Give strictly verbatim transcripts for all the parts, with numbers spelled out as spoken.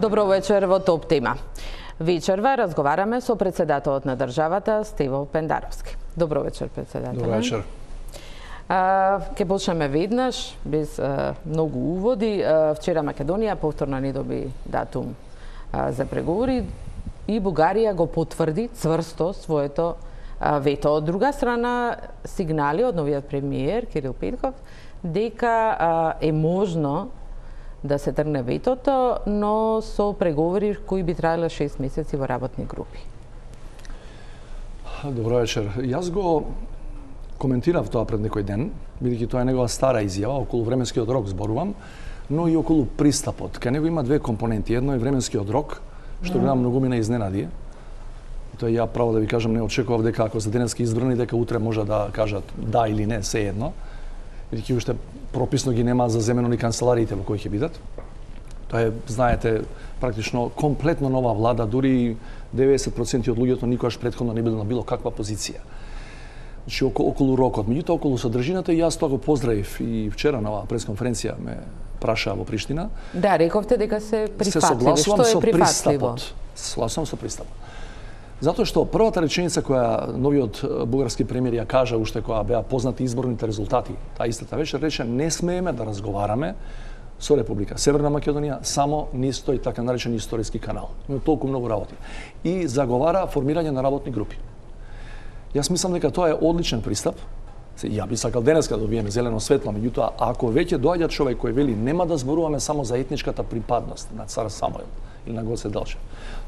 Добро вечер во Топ тема. Вечерва разговараме со председателот на државата Стево Пендаровски. Добро вечер, председател. Добро вечер. А, ке почнеме веднаш, без а, многу уводи. А, вчера Македонија повторно не доби датум а, за преговори и Бугарија го потврди цврсто своето а, вето. Од друга страна, сигнали од новиот премиер Кирил Петков дека а, е можно да се тргне ветото, но со преговори кои би траеле шест месеци во работни групи. Добро вечер. Јас го коментирав тоа пред некој ден, бидејќи тоа е негова стара изјава, околу временскиот рок зборувам, но и околу пристапот. Кај него има две компоненти. Едно е временскиот рок, што гледам многу ме изненади. Тоа ја право да ви кажам, не очекував дека ако се денески избрани, дека утре може да кажат да или не, се едно. Бидејќи уште прописно ги нема заземено ни канцелариите во кои ќе бидат. Тоа е, знаете, практично комплетно нова влада, дури деветдесет проценти од луѓето никогаш претходно не било на било каква позиција. Значи, околу, околу рокот, меѓутоа околу содржината, и јас тоа го поздравив и вчера на оваа пресконференција ме праша во Приштина. Да, рековте дека се прифатливи. Се согласувам Што е со прифатливо? пристапот. Согласувам со пристапот. Затоа што првата реченица која новиот бугарски премиер ја кажа уште кога беа познати изборните резултати, таа истата вечер рече не смееме да разговараме со Република Северна Македонија само низ тој така наречен историски канал. Има толку многу работи. И заговара формирање на работни групи. Јас мислам дека тоа е одличен пристап. Ја би сакал денеска да добиеме зелено светло, меѓутоа ако веќе доаѓа човек кој вели нема да зборуваме само за етничката припадност на цар Самуил или на Гоце Делчев,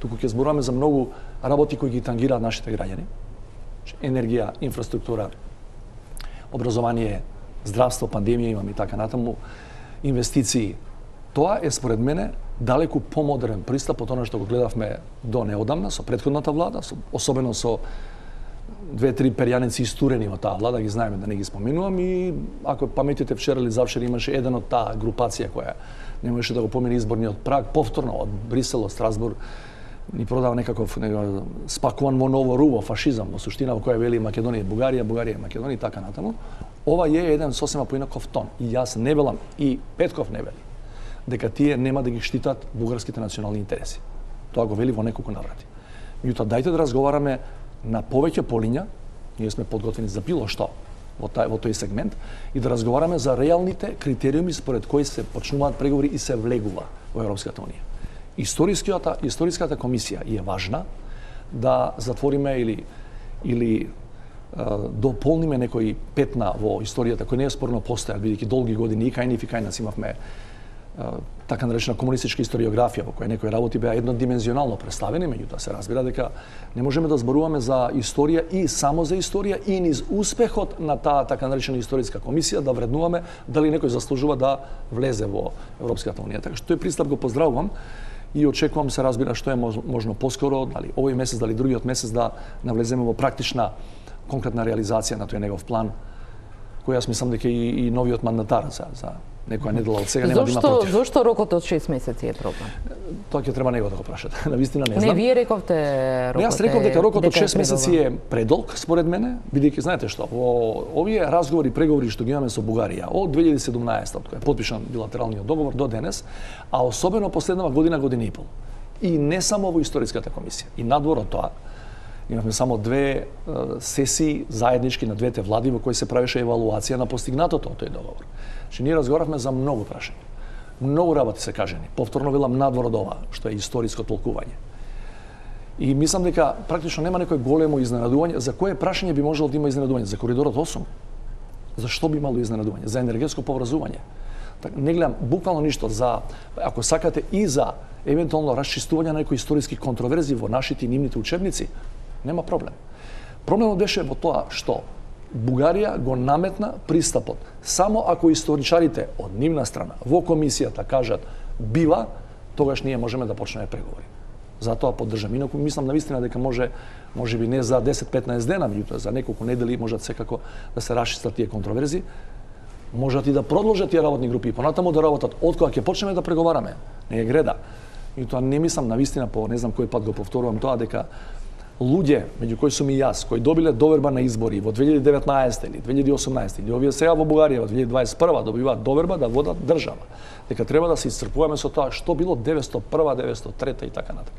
туку ќе зборуваме за многу работи кои ги тангираат нашите граѓани. Енергија, инфраструктура, образование, здравство, пандемија имаме и така натаму, инвестиции. Тоа е според мене далеку помодерен пристап од она што го гледавме до неодамна со претходната влада, со, особено со две-три перјаници истурени во таа влада, ги знаеме да не ги споменувам, и ако паметите вчера или завчера имаше еден од таа групација која не можеше да го помине изборниот праг, повторно од Брисел, од Страсбург, ни продава некаков некаков спакуван во ново руво фашизам, во суштина во која вели Македонија и Бугарија, Бугарија и Македонија и така натаму. Ова е еден сосема поинаков тон. И јас не велам, и Петков не вели, дека тие нема да ги штитат бугарските национални интереси. Тоа го вели во неколку наврати. Меѓутоа, дајте да разговараме на повеќе полиња, ние сме подготвени за било што во, тај, во тој сегмент, и да разговараме за реалните критериуми според кои се почнуваат преговори и се влегува во Европската унија. Историската, историската комисија е важна да затвориме или, или е, дополниме некои петна во историјата кои не е спорно постојат, бидејќи долги години и кај нив и кај нас имавме така наречена комунистичка историографија во која некои работи беа еднодимензионално представени, меѓутоа се разбира дека не можеме да зборуваме за историја и само за историја и низ успехот на таа така наречена историска комисија да вреднуваме дали некој заслужува да влезе во Европската унија. Така што тој пристап го поздравувам и очекувам, се разбира, што е можно поскоро, дали овој месец, дали другиот месец, да навлеземе во практична конкретна реализација на тој негов план, кој јас мислам дека и, и новиот мандатар за, за некоја недела од сега нема да има против. Зошто рокот од шест месеци е проблем? Тоа ќе треба него да го прашате. Навистина не знам. Не, вие рековте рокот. Јас реков дека рокот од шест месеци е предолг според мене, бидејќи знаете што, во овие разговори, преговори што ги имаме со Бугарија од две илјади и седумнаесета, од кога е потпишан билатералниот договор до денес, а особено последнава година, година и пол. И не само во историската комисија, и надвор од тоа, имавме само две сесии заеднички на двете влади во кои се правеше евалуација на постигнатото од тој договор. Че ние разговаравме за многу прашања. Многу работи се кажени. Повторно велам надвор од ова, што е историско толкување. И мислам дека практично нема некој големо изненадување. За кое прашање би можело да има изненадување? За коридорот осум? За што би имало изненадување? За енергетско поврзување? Так, не гледам буквално ништо за, ако сакате, и за евентуално расчистување на некои историски контроверзи во нашите и нивните учебници, нема проблем. Проблемот беше во тоа што Бугарија го наметна пристапот. Само ако историчарите од нивна страна во комисијата кажат бива, тогаш ние можеме да почнеме преговори. Затоа поддржам. Инаку мислам навистина дека може, може би не за десет-петнаесет дена, меѓутоа за неколку недели можат секако да се расчистат тие контроверзи. Можат и да продолжат тие работни групи и понатаму да работат од кога ќе почнеме да преговараме. Не е греда. И тоа не мислам навистина, по не знам кој пат го повторувам тоа, дека луѓе, меѓу кои сум и јас, кои добиле доверба на избори во две илјади и деветнаесета или две илјади и осумнаесета или овие сега во Бугарија во две илјади дваесет и прва добиваат доверба да водат држава. Дека треба да се исцрпуваме со тоа што било деветстотина и прва, деветстотина и трета и така натаму.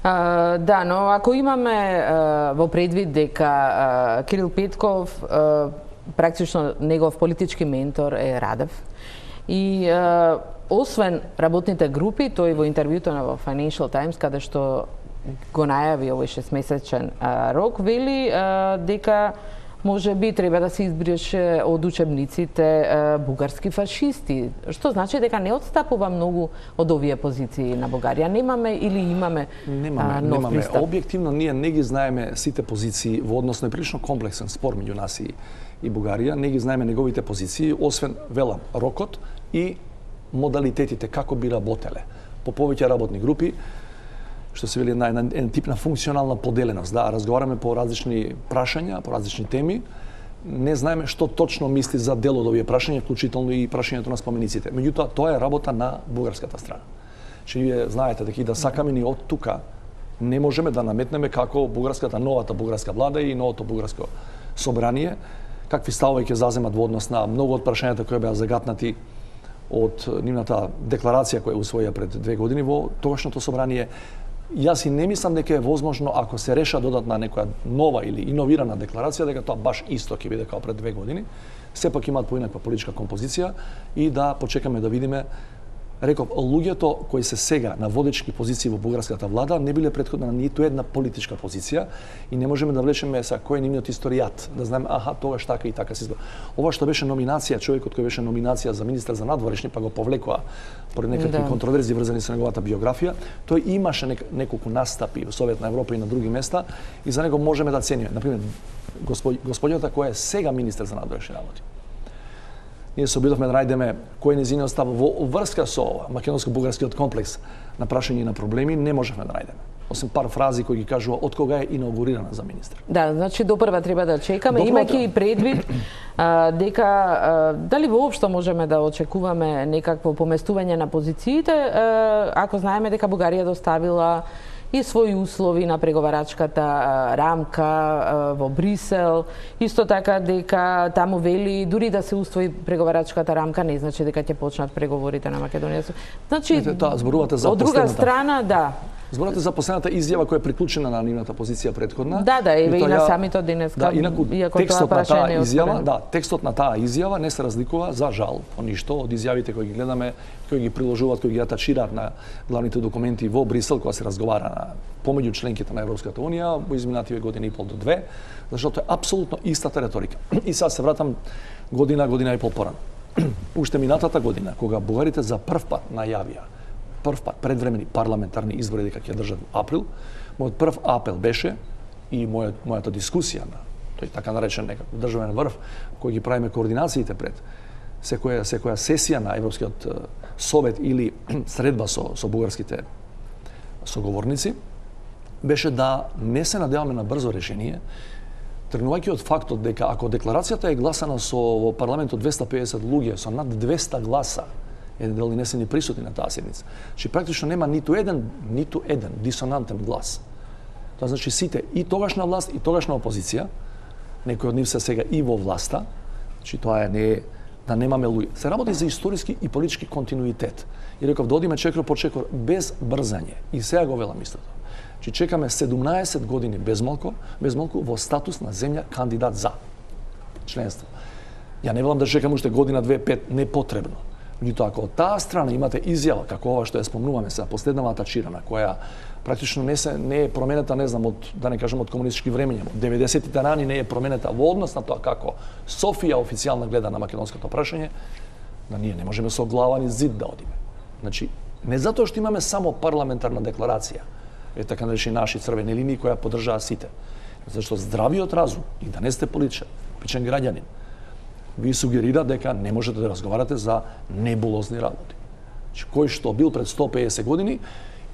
Uh, да, но ако имаме uh, во предвид дека uh, Кирил Петков, uh, практично негов политички ментор е Радев, и uh, освен работните групи, тој во интервјуто на во Financial Times, каде што го најави овој шестмесечен uh, рок, вели uh, дека може би треба да се избрише од учебниците uh, бугарски фашисти, што значи дека не отстапува многу од овие позиции на Бугарија. Немаме или имаме немаме, uh, нов немаме. пристап? Објективно ние не ги знаеме сите позиции во однос на прилично комплексен спор меѓу нас и, и Бугарија, не ги знаеме неговите позиции, освен велам рокот и модалитетите како би работеле по повеќе работни групи, што се вели на еден тип на функционална поделеност, да, разговараме по различни прашања, по различни теми, не знаеме што точно мисли за дел од овие прашања, вклучително и прашањето на спомениците. Меѓутоа, тоа е работа на бугарската страна. Че вие знаете дека и да сакаме ни од тука, не можеме да наметнеме како бугарската, новата бугарска влада и новото бугарско собрание, какви ставови ќе заземат во однос на многу од прашањата кои беа загатнати од нивната декларација која усвоја пред две години во тогашното собрание. Јас и не мислам дека е возможно, ако се реша додатна некоја нова или иновирана декларација, дека тоа баш исто ќе биде како пред две години. Сепак имаат поинаква политичка композиција и да почекаме да видиме. Реков, луѓето кои се сега на водечки позиции во бугарската влада не биле претходно на ниту една политичка позиција и не можеме да влечеме са кој е нивниот историјат, да знаеме аха тогаш така и така се изгледа. Ова што беше номинација, човекот кој беше номинација за министар за надворешни, па го повлекоа поради некакви да. контроверзи врзани со неговата биографија, тој имаше нек, неколку настапи во Советна Европа и на други места и за него можеме да цениме. Например, господјата која е сега министар за надворешни работи. Ние се обидовме да најдеме кој е нејзиниот став во врска со ова македонско-бугарскиот комплекс на прашања и на проблеми, не можевме да најдеме. Освен пар фрази кои ги кажува од кога е инаугурирана за министар. Да, значи до прва треба да чекаме, имајќи и предвид а, дека а, дали воопшто можеме да очекуваме некакво поместување на позициите, а, ако знаеме дека Бугарија доставила и своји услови на преговарачката рамка во Брисел. Исто така дека таму вели дури да се усвои преговарачката рамка не значи дека ќе почнат преговорите на Македонија. Значи, да, зборувате за од друга страна, да. Зборувате за последната изјава која е приклучена на нивната позиција претходна. Да, да, еве и на самитот денеска. Да, инаку текстот на таа изјава, да, текстот на таа изјава не се разликува за жал по ништо од изјавите кои ги гледаме, кои ги приложуваат, кои ги атачираат на главните документи во Брисел кога се разговара на помеѓу членките на Европската унија во изминативе година и пол до две, зашто е апсолутно истата реторика. И сега се вратам година, година и пол порано. Уште минатата година, кога бугарите за прв пат најавија прв пат предвремени парламентарни избори дека ќе држат во април, мојот прв апел беше и мојот, мојата дискусија на тој така наречен некако државен врв кој ги правиме координациите пред секоја секоја сесија на Европскиот совет или средба со со бугарските соговорници, беше да не се надеваме на брзо решение, тргнувајќи од фактот дека ако декларацијата е гласана со во парламентот двеста и педесет луѓе со над двеста гласа, еден дел не се ни присутни на таа седница. Че практично нема ниту еден, ниту еден дисонантен глас. Тоа значи сите и тогашна власт и тогашна опозиција, некои од нив се сега и во власта, значи тоа е не да немаме луѓе. Се работи за историски и политички континуитет. И реков да одиме чекор по чекор без брзање. И сега го велам истото. Че чекаме седумнаесет години без малку, без малку во статус на земја кандидат за членство. Ја не велам да чекам уште година, две, пет, непотребно. Меѓутоа, ако од таа страна имате изјава како ова што ја спомнуваме сега, последнава атачирана, која практично не се не е променета, не знам, од да не кажам од комунистички времења, од деветдесетите рани не е променета во однос на тоа како Софија официјално гледа на македонското прашање, да ние не можеме со глава ни зид да одиме. Значи, не затоа што имаме само парламентарна декларација, е така наречени наши црвени линии која поддржаа сите. Зашто здравиот разум и да не сте политичар, пичен граѓанин, ви сугерира дека не можете да разговарате за небулозни работи. Значи, кој што бил пред сто и педесет години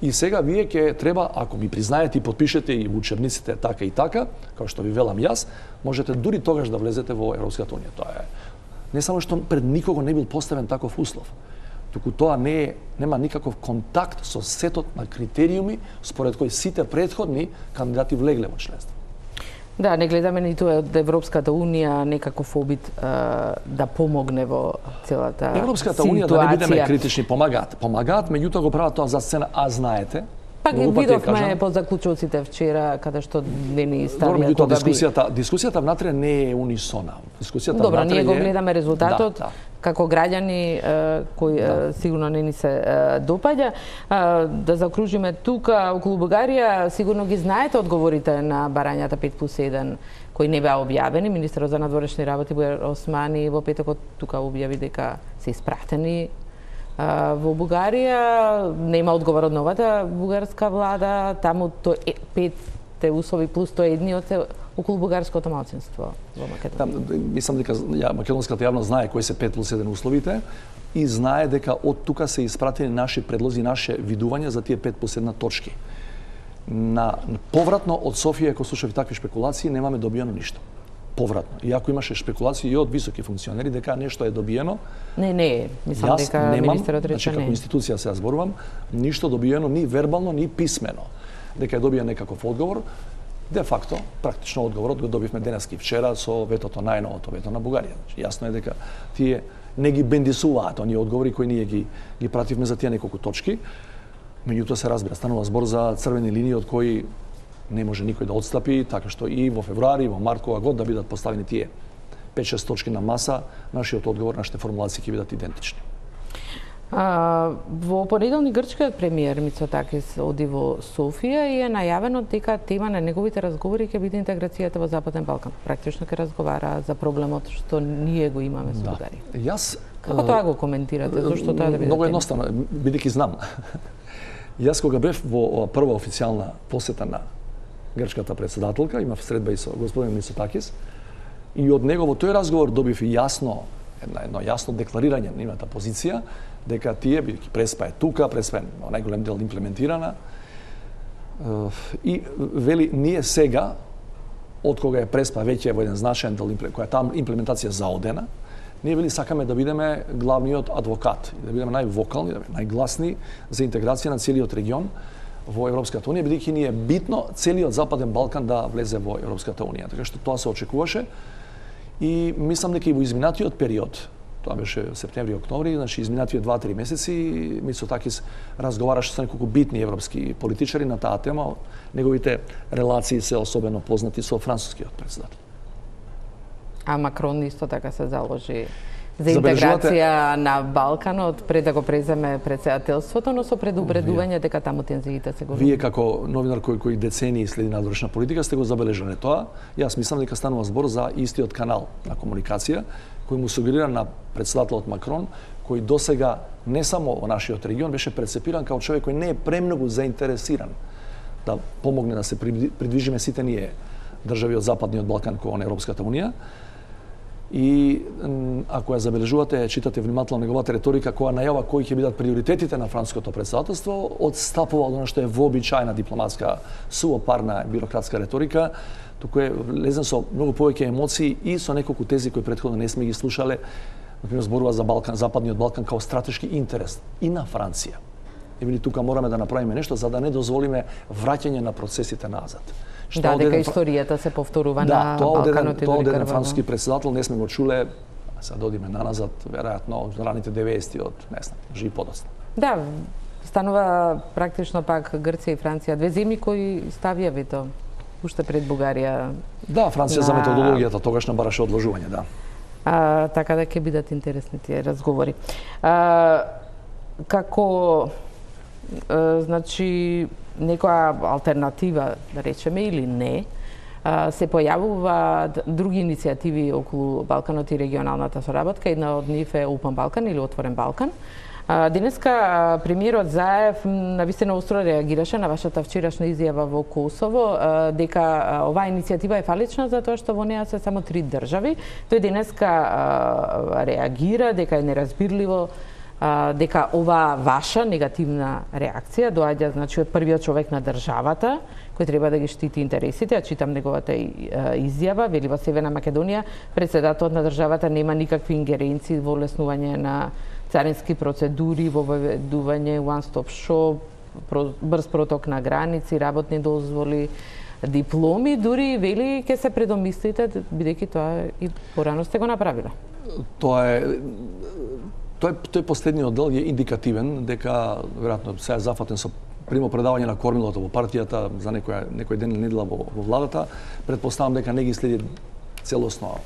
и сега вие ќе треба, ако ми признаете и подпишете и во учебниците така и така, како што ви велам јас, можете дури тогаш да влезете во Европската унија. Тоа е не само што пред никого не бил поставен таков услов, туку тоа не е, нема никаков контакт со сетот на критериуми според кои сите претходни кандидати влегле во членство. Да, не гледаме ниту од Европската унија некаков обид а, да помогне во целата Европската ситуација. унија, да не бидеме критични, помагаат. Помагаат, меѓутоа го прават тоа за сцена, а знаете, Пак ги видовме по заклучоците вчера, каде што не ни ставија кога би... Дискусијата, дискусијата внатре не е унисона. Дискусијата Добро, внатре ние го е... гледаме резултатот, да, да. како граѓани кои да. сигурно не ни се допаѓа. Да заокружиме тука околу Бугарија, сигурно ги знаете одговорите на барањата пет плюс еден кои не беа објавени. Министерот за надворешни работи Бујар Османи во петокот тука објави дека се испратени во Бугарија. Нема одговор од новата бугарска влада, таму тоа петте услови плюс тоа едниот е околу бугарското малцинство во Македонија. Да, мислам дека ја, македонската јавност знае кои се пет плюс еден условите и знае дека од тука се испратени наши предлози, наше видувања за тие пет плюс една точки. На повратно од Софија, ако слушав такви шпекулации, немаме добиено ништо. Повратно. Иако имаше шпекулации и од високи функционери дека нешто е добиено. Не, не, мислам дека министерот рече не. Значи, како институција се зборувам, ништо добиено ни вербално, ни писмено. Дека е добиен некаков одговор. Де факто, практично одговорот го добивме денески вчера со ветото, најновото вето на Бугарија. Значи, јасно е дека тие не ги бендисуваат оние одговори кои ние ги, ги пративме за тие неколку точки. Меѓутоа се разбира, станува збор за црвени линии од кои не може никој да отстапи, така што и во февруари, во март, кога год да бидат поставени тие пет-шест точки на маса, нашиот одговор, нашите формулации ќе бидат идентични. А, во понеделник грчкиот премиер Мицотакис оди во Софија и е најавено дека тема на неговите разговори ќе биде интеграцијата во Западен Балкан. Практично ќе разговара за проблемот што ние го имаме со Бугарија. Да. Јас Како тоа го коментирате? Зошто тоа да биде? Многу едноставно, бидејќи знам. Јас кога бев во прва официјална посета на грчката председателка, имав средба и со господин Мицотакис, и од него во тој разговор добив јасно едно, едно јасно декларирање на нивната позиција, дека тие, бидејќи Преспа е тука, Преспа е во најголем дел имплементирана, и вели, ние сега, од кога е Преспа веќе во еден значаен дел, која е таа имплементација заодена, ние вели сакаме да бидеме главниот адвокат, да бидеме највокални, да бидеме најгласни за интеграција на целиот регион во Европската унија, бидејќи ни е битно целиот Западен Балкан да влезе во Европската унија. Така што тоа се очекуваше и мислам дека и во изминатиот период, тоа беше септември, октомври, значи изминативе два-три месеци, Мицотакис разговараше со неколку битни европски политичари на таа тема. Неговите релации се особено познати со францускиот председател. А Макрон исто така се заложи за интеграција на Балканот пред да го преземе председателството, но со предупредување дека таму тензиите се големи. Вие како новинар кој кој децении следи надворешна политика сте го забележале тоа. Јас мислам дека станува збор за истиот канал на комуникација кој му сугерира на председателот Макрон, кој досега не само во нашиот регион беше прецепиран како човек кој не е премногу заинтересиран да помогне да се придвижиме сите ние држави од Западниот Балкан кон Европската унија. И ако ја забележувате, читате внимателно неговата реторика која најава кои ќе бидат приоритетите на француското председателство, одстапува од она што е вообичаена дипломатска, суопарна бирократска реторика, туку е лезен со многу повеќе емоции и со неколку тези кои претходно не сме ги слушале. Например, зборува за Балкан, Западниот Балкан као стратешки интерес и на Франција. И вели тука мораме да направиме нешто за да не дозволиме враќање на процесите назад. Да, дека историјата се повторува да, на Балканот и тоа од дори еден француски председател не сме го чуле, сега додиме наназад, веројатно од раните деветдесети, од не знам, жи подоцна. Да, станува практично пак Грција и Франција, две земји кои ставија вето уште пред Бугарија. Да, Франција на... за методологијата тогаш не бараше одложување, да. А, така да ќе бидат интересни тие разговори. А, како а, значи некоја алтернатива, да речеме, или не, се појавуваат други иницијативи околу Балканот и регионалната соработка. Една од нив е Open Балкан или Отворен Балкан. Денеска премиерот Заев навистина остро реагираше на вашата вчерашна изјава во Косово дека оваа иницијатива е фалична затоа што во неа се само три држави. Тој денеска реагира дека е неразбирливо дека оваа ваша негативна реакција доаѓа значи од првиот човек на државата кој треба да ги штити интересите, а читам неговата изјава, вели во Северна Македонија председателот на државата нема никакви ингеренции во олеснување на царински процедури, воведување one stop shop, брз проток на граници, работни дозволи, дипломи, дури вели ќе се предомислите, бидејќи тоа и порано сте го направиле. Тоа е тој тој последниот дел е индикативен дека веројатно се е зафатен со примо предавање на кормилото во партијата за некој некој ден или недела во, во владата. Претпоставам дека не ги следи целосно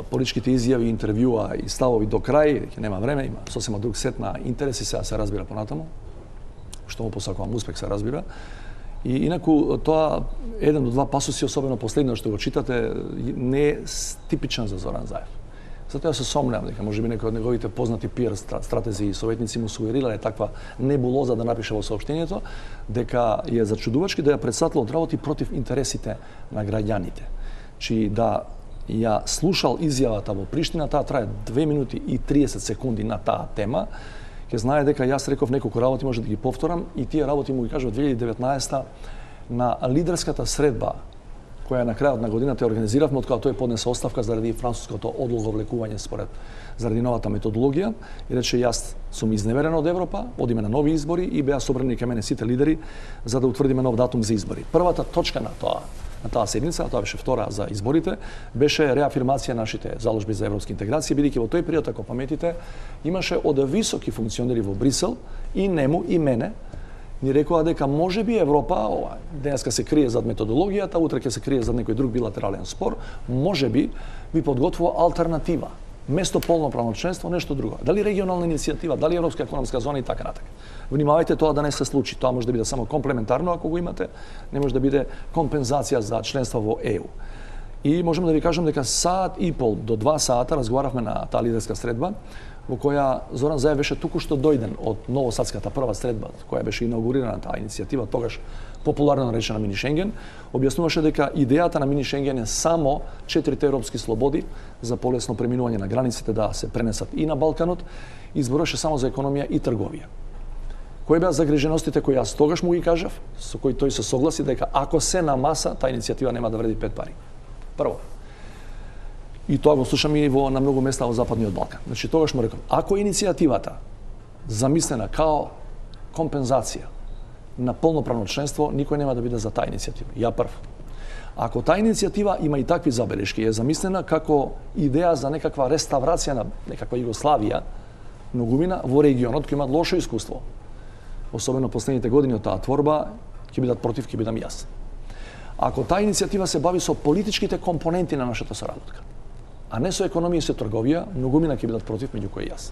политичките изјави, интервјуа и ставови до крај, дека нема време, има сосема друг сет на интереси, сега се разбира понатаму, што му посакувам успех, се разбира. И инаку тоа еден до два пасуси, особено последно што го читате, не е типичен за Зоран Заев. Затоа се сомневам дека можеби некој од неговите познати пиар стратези и советници му сугерирале таква небулоза да напише во соопштението, дека е зачудувачки да ја претставил од работи против интересите на граѓаните. Чи да ја слушал изјавата во Приштина, таа трае две минути и триесет секунди на таа тема, ќе знае дека јас реков неколку работи, може да ги повторам, и тие работи му ги кажав две илјади и деветнаесета на лидерската средба која на крајот на годината ја организиравме, откога тој поднесе оставка заради француското одлоговлекување според заради новата методологија, и рече јас сум изневерен од Европа, одиме на нови избори, и беа собрани кај мене сите лидери за да утврдиме нов датум за избори. Првата точка на тоа на таа седница, а тоа беше втора за изборите, беше реафирмација нашите заложби за европски интеграција, бидејќи во тој период, ако паметите, имаше од високи функционери во Брисел, и нему и мене, ни рекоа дека можеби Европа, ова, денеска се крие зад методологијата, утре ќе се крие зад некој друг билатерален спор, можеби ви подготвува алтернатива, место полноправно членство, нешто друго. Дали регионална иницијатива, дали европска економска зона и така натака. Внимавајте тоа да не се случи. Тоа може да биде само комплементарно ако го имате, не може да биде компензација за членство во Е У. И можам да ви кажам дека саат и пол до два саата разговаравме на таа лидерска средба, во која Зоран Заев беше туку-што дојден од новосадската прва средба, која беше инаугурирана таа иницијатива, тогаш популарно наречена Мини Шенген, објаснуваше дека идејата на Мини Шенген е само четирите европски слободи за полесно преминување на границите да се пренесат и на Балканот, и зборуваше само за економија и трговија. Кои беа загриженостите кои јас тогаш му ги кажав, со кои тој се согласи дека ако се на маса, таа иницијатива нема да вреди пет пари. Прво. И тоа го слушам и во на многу места во Западниот Балкан. Значи тогаш му реков, ако иницијативата замислена као компензација на полноправно членство, никој нема да биде за таа иницијатива. Ја прв. Ако таа иницијатива има и такви забелешки, е замислена како идеја за некаква реставрација на некаква Југославија, многумина во регионот кој имаат лошо искуство, особено последните години од таа творба, ќе бидат против, ќе бидам јас. Ако таа иницијатива се бави со политичките компоненти на нашата соработка, а не со економија и со трговија, многумина ќе бидат против, меѓу кои јас.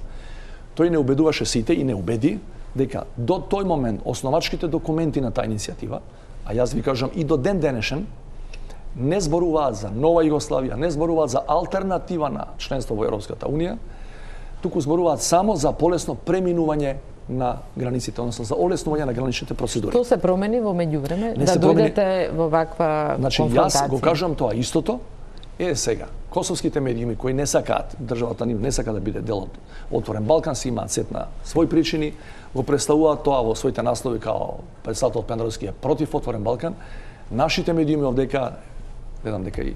Тој не убедуваше сите и не убеди дека до тој момент основачките документи на таа иницијатива, а јас ви кажам и до ден денешен, не зборуваат за нова Југославија, не зборуваат за алтернатива на членство во Европската Унија, туку зборуваат само за полесно преминување на границите, односно за олеснување на граничните процедури. Тоа се промени во меѓувреме, да дојдете во ваква значи, конфронтација? Јас го кажам тоа истото. Е, сега, косовските медиуми кои не сакаат, државата нив не сака да биде дел од Отворен Балкан, си имаат сет на своји причини, го представуваат тоа во своите наслови као председател Пендровски е против Отворен Балкан. Нашите медиуми овдека, гледам дека и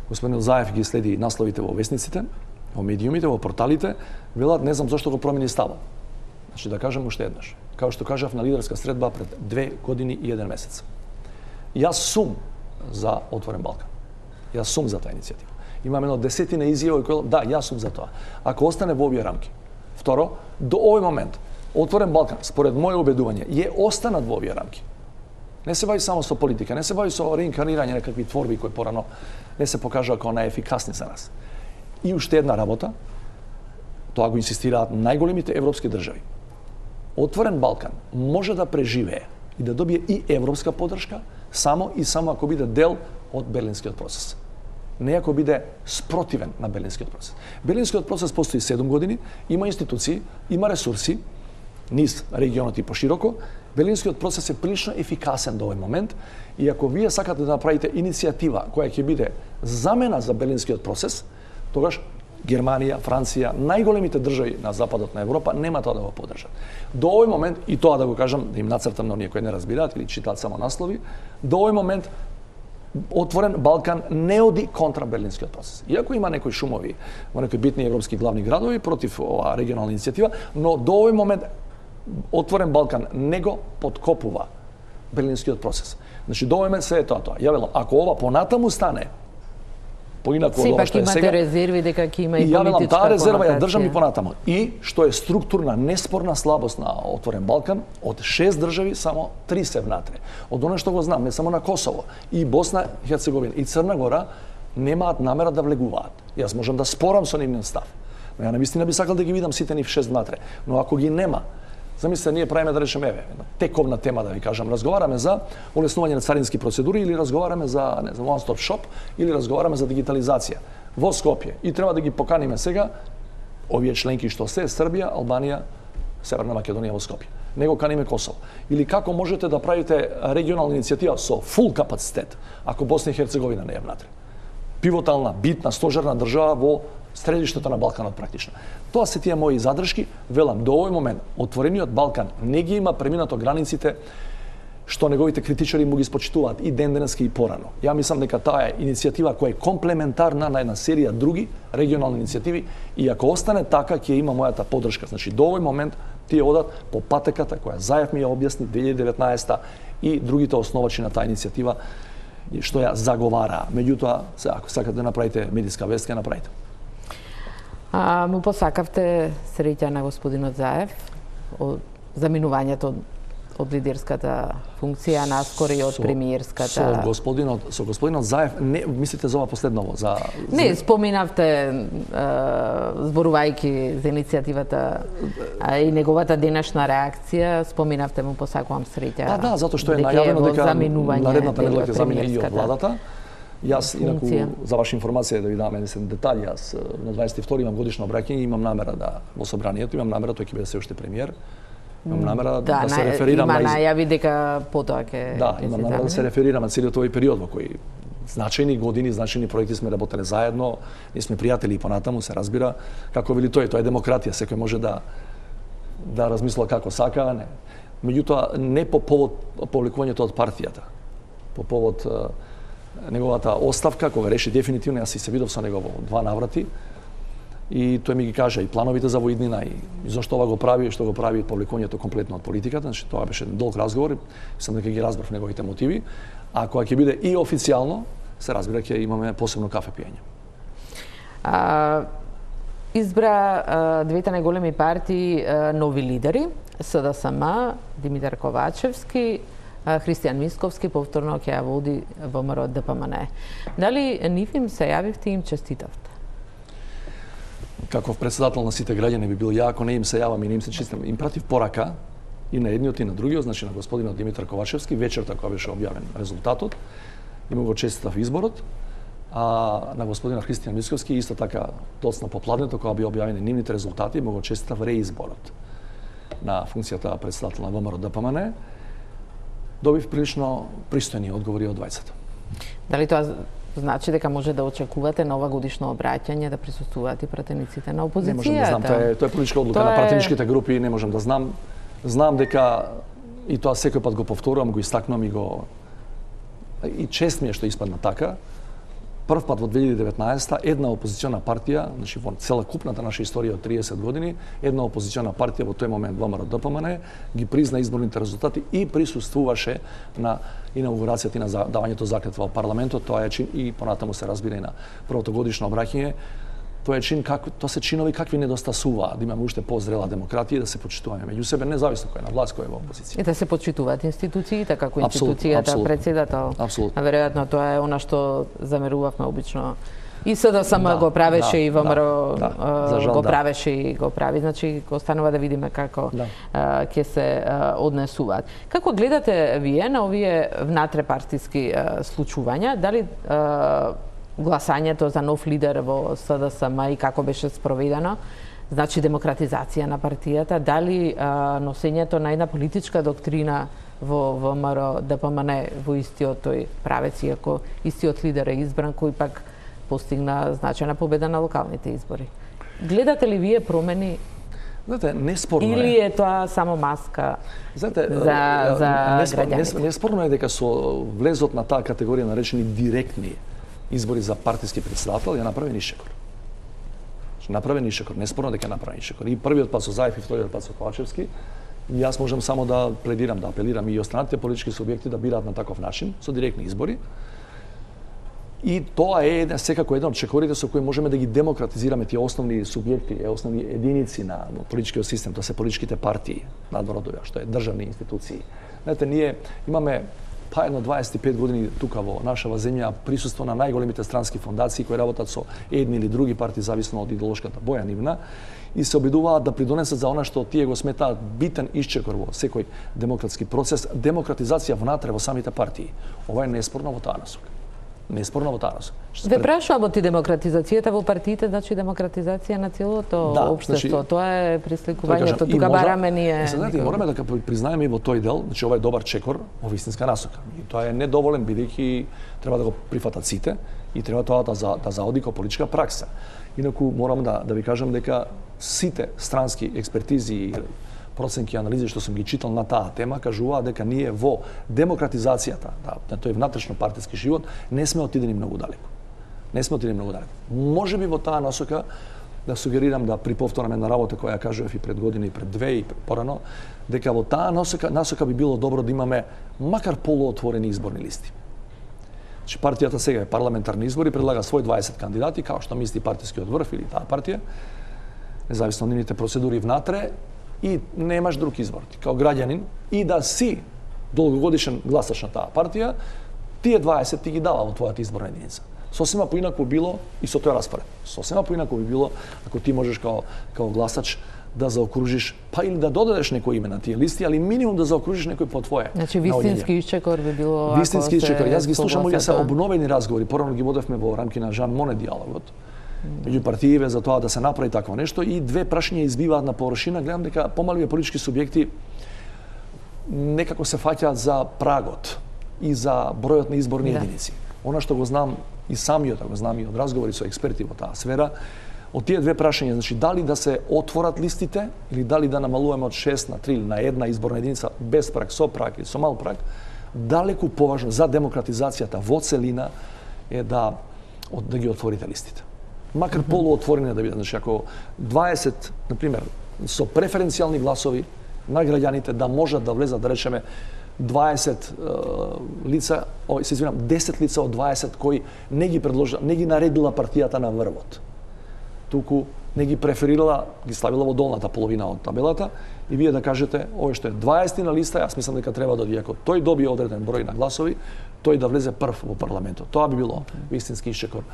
господин Заев ги следи насловите во весниците, во медиумите, во порталите, велат не знам зошто го промени ставот. Значи да кажам уште еднаш, као што кажав на лидерска средба пред две години и еден месец. Јас сум за Отворен Балкан. Јас сум за таа иницијатива. Имам едно десетина изјави кои да, јас сум за тоа. Ако остане во овие рамки. Второ, до овој момент Отворен Балкан, според моје убедување, е останат во овие рамки. Не се бави само со политика, не се бави со реинкарнирање на какви творби кои порано не се покажаа како најефикасни за нас. И уште една работа, тоа го инсистираат најголемите европски држави. Отворен Балкан може да преживее и да добие и европска поддршка само и само ако биде дел од Берлинскиот процес. Не ако биде спротивен на Берлинскиот процес. Берлинскиот процес постои седум години, има институции, има ресурси, низ регионот и пошироко. Берлинскиот процес е прилично ефикасен до овој момент и ако вие сакате да направите иницијатива која ќе биде замена за Берлинскиот процес, тогаш Германија, Франција, најголемите држави на западот на Европа нема тоа да го поддржат. До овој момент, и тоа да го кажам, да им нацртам на оние кои не разбираат или читаат само наслови, до овој момент Отворен Балкан не оди контра Берлинскиот процес. Иако има некои шумови во некои битни европски главни градови против оваа регионална иницијатива, но до овој момент Отворен Балкан не го подкопува Берлинскиот процес. Значи до овој момент се е тоа тоа. Ја велам, ако ова понатаму стане поинаку од ова што е сега. Сепак имате резерви дека ќе има и политичка конотација. И ја велам, таа резерва ја држам и понатаму. И што е структурна неспорна слабост на Отворен Балкан, од шест држави само три се внатре. Од оно што го знам, не само на Косово, и Босна и Херцеговина и Црна Гора немаат намера да влегуваат. Јас можам да спорам со нивниот став. Но ја навистина би сакал да ги видам сите нив шест внатре. Но ако ги нема, замислете, ние правиме, да речеме, еве, тековна тема, да ви кажам, разговараме за олеснување на царински процедури или разговараме за, не знам, one stop shop или разговараме за дигитализација во Скопје. И треба да ги поканиме сега овие членки што се Србија, Албанија, Северна Македонија во Скопје. Не го каниме Косово. Или како можете да правите регионална иницијатива со фул капацитет ако Босна и Херцеговина не е внатре? Пивотална, битна, стожерна држава во средиштето на Балканот практично. Тоа се тие мои задршки, велам, до овој момент отворениот Балкан не ги има преминато границите што неговите критичари му ги спочитуваат и ден денески и порано. Ја мислам дека таа е иницијатива која е комплементарна на една серија други регионални иницијативи и ако остане така ќе има мојата поддршка. Значи до овој момент тие одат по патеката која Заев ми ја објасни две илјади и деветнаесета и другите основачи на таа иницијатива што ја заговараа. Меѓутоа, ако сакате да направите медиска вест, ќе направите. А, му посакавте среќа на господинот Заев од заминувањето од, од лидерската функција, наскоро и од со, премиерската. Со господинот, со господинот Заев, не мислите за ова последново, за Не, споминавте е, зборувајќи за иницијативата а, и неговата денешна реакција, споминавте му посакувам среќа. Да, да, затоа што е најавено дека наредната недела ќе замине и од владата. Јас, инаку, за ваша информација да ви дам еден детаљ, јас на дваесет и втори имам годишно обраќање, имам намера да во собранието, имам намера тој ќе биде се уште премиер. Имам намера да, да се реферирам има на Има најави дека потоа ќе Да, имам намера да се реферирам на целиот овој период во кој значајни години, значајни проекти сме работеле заедно, ние сме пријатели и понатаму, се разбира, како вели тој, тоа е демократија, секој може да да размисла како сака, не. Меѓутоа не по повод повлекувањето од партијата, по повод неговата оставка, кога реши дефинитивно, јас и се видов со него во два наврати, и тој ми ги кажа и плановите за воиднина, и, и зашто ова го прави, и што го прави повлекувањето комплетно од политиката, значи тоа беше долг разговор, сам дека ги разбрав неговите мотиви, а кога ќе биде и официјално, се разбира ќе имаме посебно кафе пиење. А, избра а, двете најголеми партии а, нови лидери, СДСМ, Димитар Ковачевски, Христијан Мисковски повторно ќе ја води ВМРО ДПМН. Дали нив им се јавивте и им честитавте? Како председател на сите граѓани би бил ја, ако не им се јавам и не им се честитам, им пратив порака и на едниот и на другиот, значи на господинот Димитар Ковачевски, вечерта кога беше објавен резултатот, и му го честитав изборот, а на господинот Христијан Мисковски исто така доцна попладнето кога би објавени нивните резултати, му го честитав реизборот на функцијата председател на ВМРО ДПМН. Добив прилично пристојни одговори од двајцата. Дали тоа значи дека може да очекувате на ова годишно обраќање да присуствуваат и пратениците на опозицијата? Не можам да знам, тоа е, тоа е политичка одлука тоа на пратеничките групи, не можам да знам. Знам дека и тоа секој пат го повторувам, го истакнувам и го и чест ми е што испадна така. Прв пат во две илјади и деветнаесета една опозициона партија, значи во целокупната наша историја од триесет години, една опозициона партија во тој момент ВМРО ДПМН ги призна изборните резултати и присуствуваше на инаугурацијата и на давањето заклетва во парламентот. Тоа е чин и понатаму се разбира и на првото годишно обраќање. Тоа е чин како тоа се чинови какви недостасуваат, да имаме уште позрела демократија и да се почитуваме меѓу себе независно кој е на власт, кој е во опозиција. И да се почитуваат институциите, како институцијата абсолютно, председател. Апсолутно. Веројатно тоа е она што замерувавме обично. И СДСМ да, го правеше да, и ВМРО да, да, го да. правеше и го прави, значи останува да видиме како да. ќе се а, однесуваат. Како гледате вие на овие внатрепартиски а, случувања? Дали а, гласањето за нов лидер во СДСМ и како беше спроведено, значи демократизација на партијата, дали а, носењето на една политичка доктрина во ВМРО ДПМН во истиот тој правец, иако истиот лидер е избран, кој пак постигна значајна победа на локалните избори. Гледате ли вие промени? Знаете, неспорно Или е. е тоа само маска Знаете, за, за граѓаните? Неспорно е дека со влезот на таа категорија наречени директни избори за партиски председател ја направи Ишчекор. Направи Ишчекор, неспорно дека направи Ишчекор. И првиот пат со Заев и вториот пат со Ковачевски. И јас можам само да пледирам, да апелирам и останатите политички субјекти да бираат на таков начин, со директни избори. И тоа е секако еден од чекорите со кои можеме да ги демократизираме тие основни субјекти, основни единици на политичкиот систем, тоа се политичките партии надвор од ова, што е државни институции. Знаете, ние имаме па едно дваесет и пет години тука во нашава земја присуство на најголемите странски фондации кои работат со едни или други партии зависно од идеолошката боја нивна и се обидуваат да придонесат за она што тие го сметаат битен ишчекор во секој демократски процес, демократизација внатре во самите партии. Ова е неспорно во таа насока. Неспорно во таа насока. Ве прашувам од демократизацијата во партиите, значи демократизација на целото да, општество. Значи, тоа е присликувањето. Тоа Тука бараме ние. Знаете, мораме да признаеме и во тој дел, значи ова е добар чекор во вистинска насока. И тоа е недоволен бидејќи треба да го прифатат сите и треба тоа да, за, да заоди како политичка пракса. Инаку морам да да ви кажам дека сите странски експертизи и проценки и анализи што сум ги читал на таа тема кажуваат дека ние во демократизацијата, да, на тој внатрешно партиски живот, не сме отидени многу далеко. Не сме отидени многу далеко. Можеби во таа насока да сугерирам да приповторам една работа која ја кажував и пред година и пред две и порано, дека во таа насока, насока би било добро да имаме макар полуотворени изборни листи. Значи партијата сега е парламентарни избори, предлага свој дваесет кандидати, као што мисли партискиот врв или таа партија, независно од нивните процедури внатре, и немаш друг избор. Ти као граѓанин и да си долгогодишен гласач на таа партија, тие дваесет ти ги дава во твојата изборна единица. Сосема поинаку било и со тој распоред. Сосема поинаку би било ако ти можеш као као гласач да заокружиш, па или да додадеш некој име на тие листи, али минимум да заокружиш некој по твое. Значи вистински ишчекор би било ако вистински ишчекор. Јас ги слушам овие се тоа. обновени разговори, порано ги водевме во рамки на Жан Моне диалогот. Меѓу партиите за тоа да се направи такво нешто и две прашања избиваат на површина, гледам дека помалите политички субјекти некако се фаќаат за прагот и за бројот на изборни да. единици. Она што го знам и самиот, го знам и од разговори со експерти во таа сфера, од тие две прашања, значи дали да се отворат листите или дали да намалуваме од шест на три или на една изборна единица без праг, со праг или со мал праг, далеку поважно за демократизацијата во целина е да да ги отворите листите. Макар полуотворени да бидат, значи ако дваесет, на пример, со преференцијални гласови на граѓаните да можат да влезат, да речеме, дваесет е, лица, о, се извинам, десет лица од дваесет кои не ги предложила, не ги наредила партијата на врвот. Туку не ги преферирала, ги ставила во долната половина од табелата и вие да кажете, овој што е дваесет на листа, јас мислам дека треба да оди, ако тој добие одреден број на гласови, тој да влезе прв во парламентот. Тоа би било вистински ишчекор.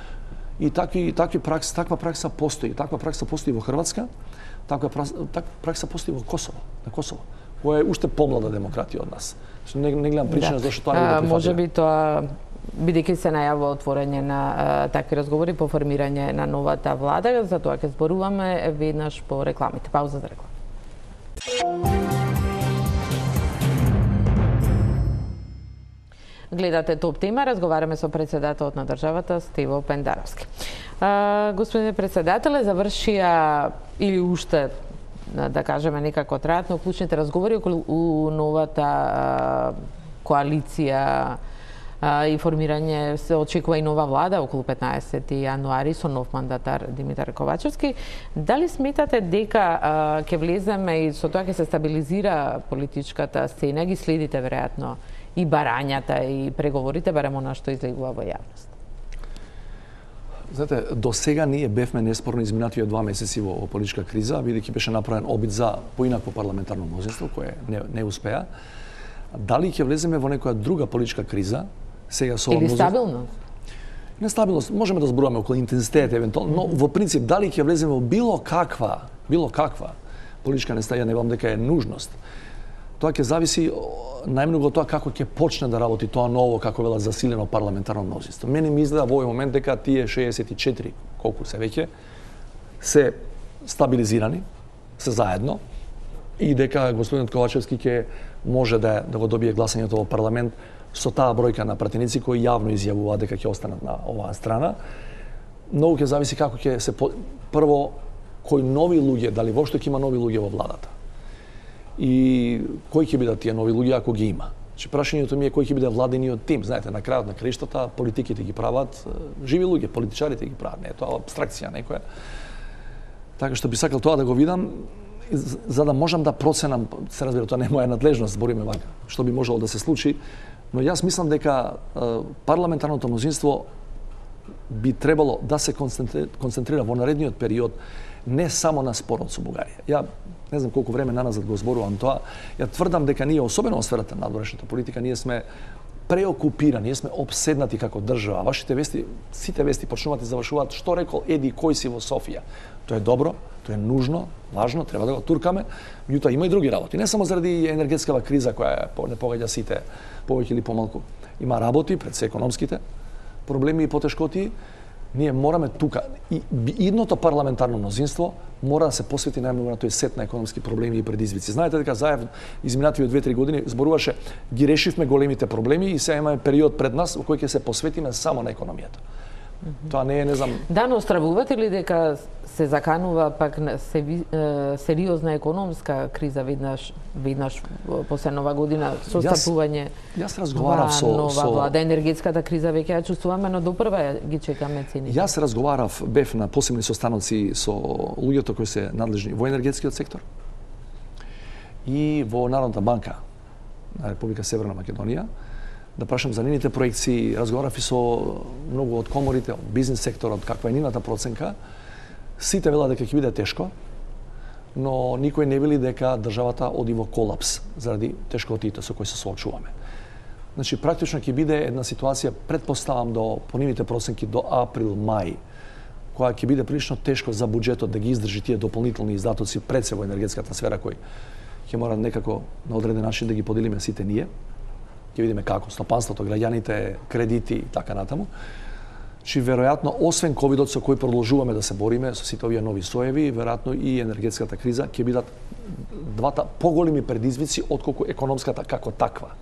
И такви такви пракса, таква пракса постои, таква пракса постои во Хрватска, таква пракса, таква пракса постои во Косово, на Косово, која е уште помлада демократија од нас. Не, не гледам причина да. зашто тоа не го прифатиле. Може би тоа бидејќи се најавува отворање на а, такви разговори по формирање на новата влада, за тоа ќе зборуваме веднаш по рекламите. Пауза за реклама. Гледате Топ тема, разговараме со председателот на државата Стево Пендаровски. А, господине председателе, завршија или уште да кажеме некако траат, но клучните разговори околу новата а, коалиција а, и формирање, се очекува и нова влада околу петнаесети јануари со нов мандатар Димитар Ковачевски. Дали сметате дека а, ќе влеземе и со тоа ќе се стабилизира политичката сцена, ги следите веројатно и барањата и преговорите, барем она што излегува во јавност? Знаете, до сега ние бевме неспорно изминативе два месеци во, во политичка криза, бидејќи беше направен обид за поинакво парламентарно мнозинство, кое не, не успеа. Дали ќе влеземе во некоја друга политичка криза, сега со или стабилност? Нестабилност, можеме да зборуваме околу интензитет евентуално, но во принцип дали ќе влеземе во било каква, било каква политичка нестабилност, не велам дека е нужност. Тоа ќе зависи најмногу од тоа како ќе почне да работи тоа ново, како велат, засилено парламентарно мнозинство. Мене ми изгледа во овој момент дека тие шеесет и четири, колку се веќе, се стабилизирани, се заедно, и дека господинот Ковачевски ќе може да, да го добие гласањето во парламент со таа бројка на пратеници кои јавно изјавуваат дека ќе останат на оваа страна. Многу ќе зависи како ќе се по... прво кои нови луѓе, дали воопшто ќе има нови луѓе во владата. И кои ќе бидат тие нови луѓе ако ги има. Значи прашањето ми е кој ќе биде владениот тим. Знаете, на крајот на краиштата политиките ги прават живи луѓе, политичарите ги прават, не е тоа абстракција некоја. Така што би сакал тоа да го видам, за да можам да проценам, се разбира, тоа не е моја надлежност, збориме вака, што би можело да се случи, но јас мислам дека парламентарното мнозинство би требало да се концентрира во наредниот период не само на спорот со Бугарија. Ја не знам колку време наназад го зборувам тоа, ја тврдам дека ние, особено во сферата на надворешната политика, ние сме преокупирани, ние сме обседнати како држава. Вашите вести, сите вести почнуваат и завршуваат што рекол еди кој си во Софија. Тоа е добро, тоа е нужно, важно, треба да го туркаме, меѓутоа има и други работи. Не само заради енергетскава криза која не погодја сите повеќе или помалку. Има работи пред се економските проблеми и потешкоти. Ние мораме тука, и идното парламентарно мнозинство мора да се посвети најмногу на тој сет на економски проблеми и предизвици. Знаете дека заедно изминативите две-три години зборуваше ги решивме големите проблеми и сега имаме период пред нас во кој ќе се посветиме само на економијата. Mm-hmm. Тоа не е, не знам... Да, но стравувате ли дека се заканува пак сериозна економска криза веднаш веднаш после нова година со стапување? Јас разговарав со нова со влада, енергетската криза веќе ја чувствуваме, но допрва ги чекаме цените. Јас разговарав, бев на посебни состаноци со луѓето кои се надлежни во енергетскиот сектор и во Народната банка на Република Северна Македонија, да прашам за нивните проекции, разговарав и со многу од коморите, од бизнес секторот, каква е нивната проценка. Сите велат дека ќе биде тешко, но никој не вели дека државата оди во колапс заради тешкотиите со кои се соочуваме. Значи, практично ќе биде една ситуација, предпоставам до по нивните проценки до април-мај, која ќе биде прилично тешко за буџетот да ги издржи тие дополнителни издатоци пред се во енергетската сфера кои ќе мора некако на одреден начин да ги поделиме сите ние. Ќе видиме како стопанството, граѓаните, кредити и така натаму. Чи веројатно освен ковидот со кој продолжуваме да се бориме со сите овие нови соеви, веројатно и енергетската криза ќе бидат двата поголеми предизвици отколку економската како таква.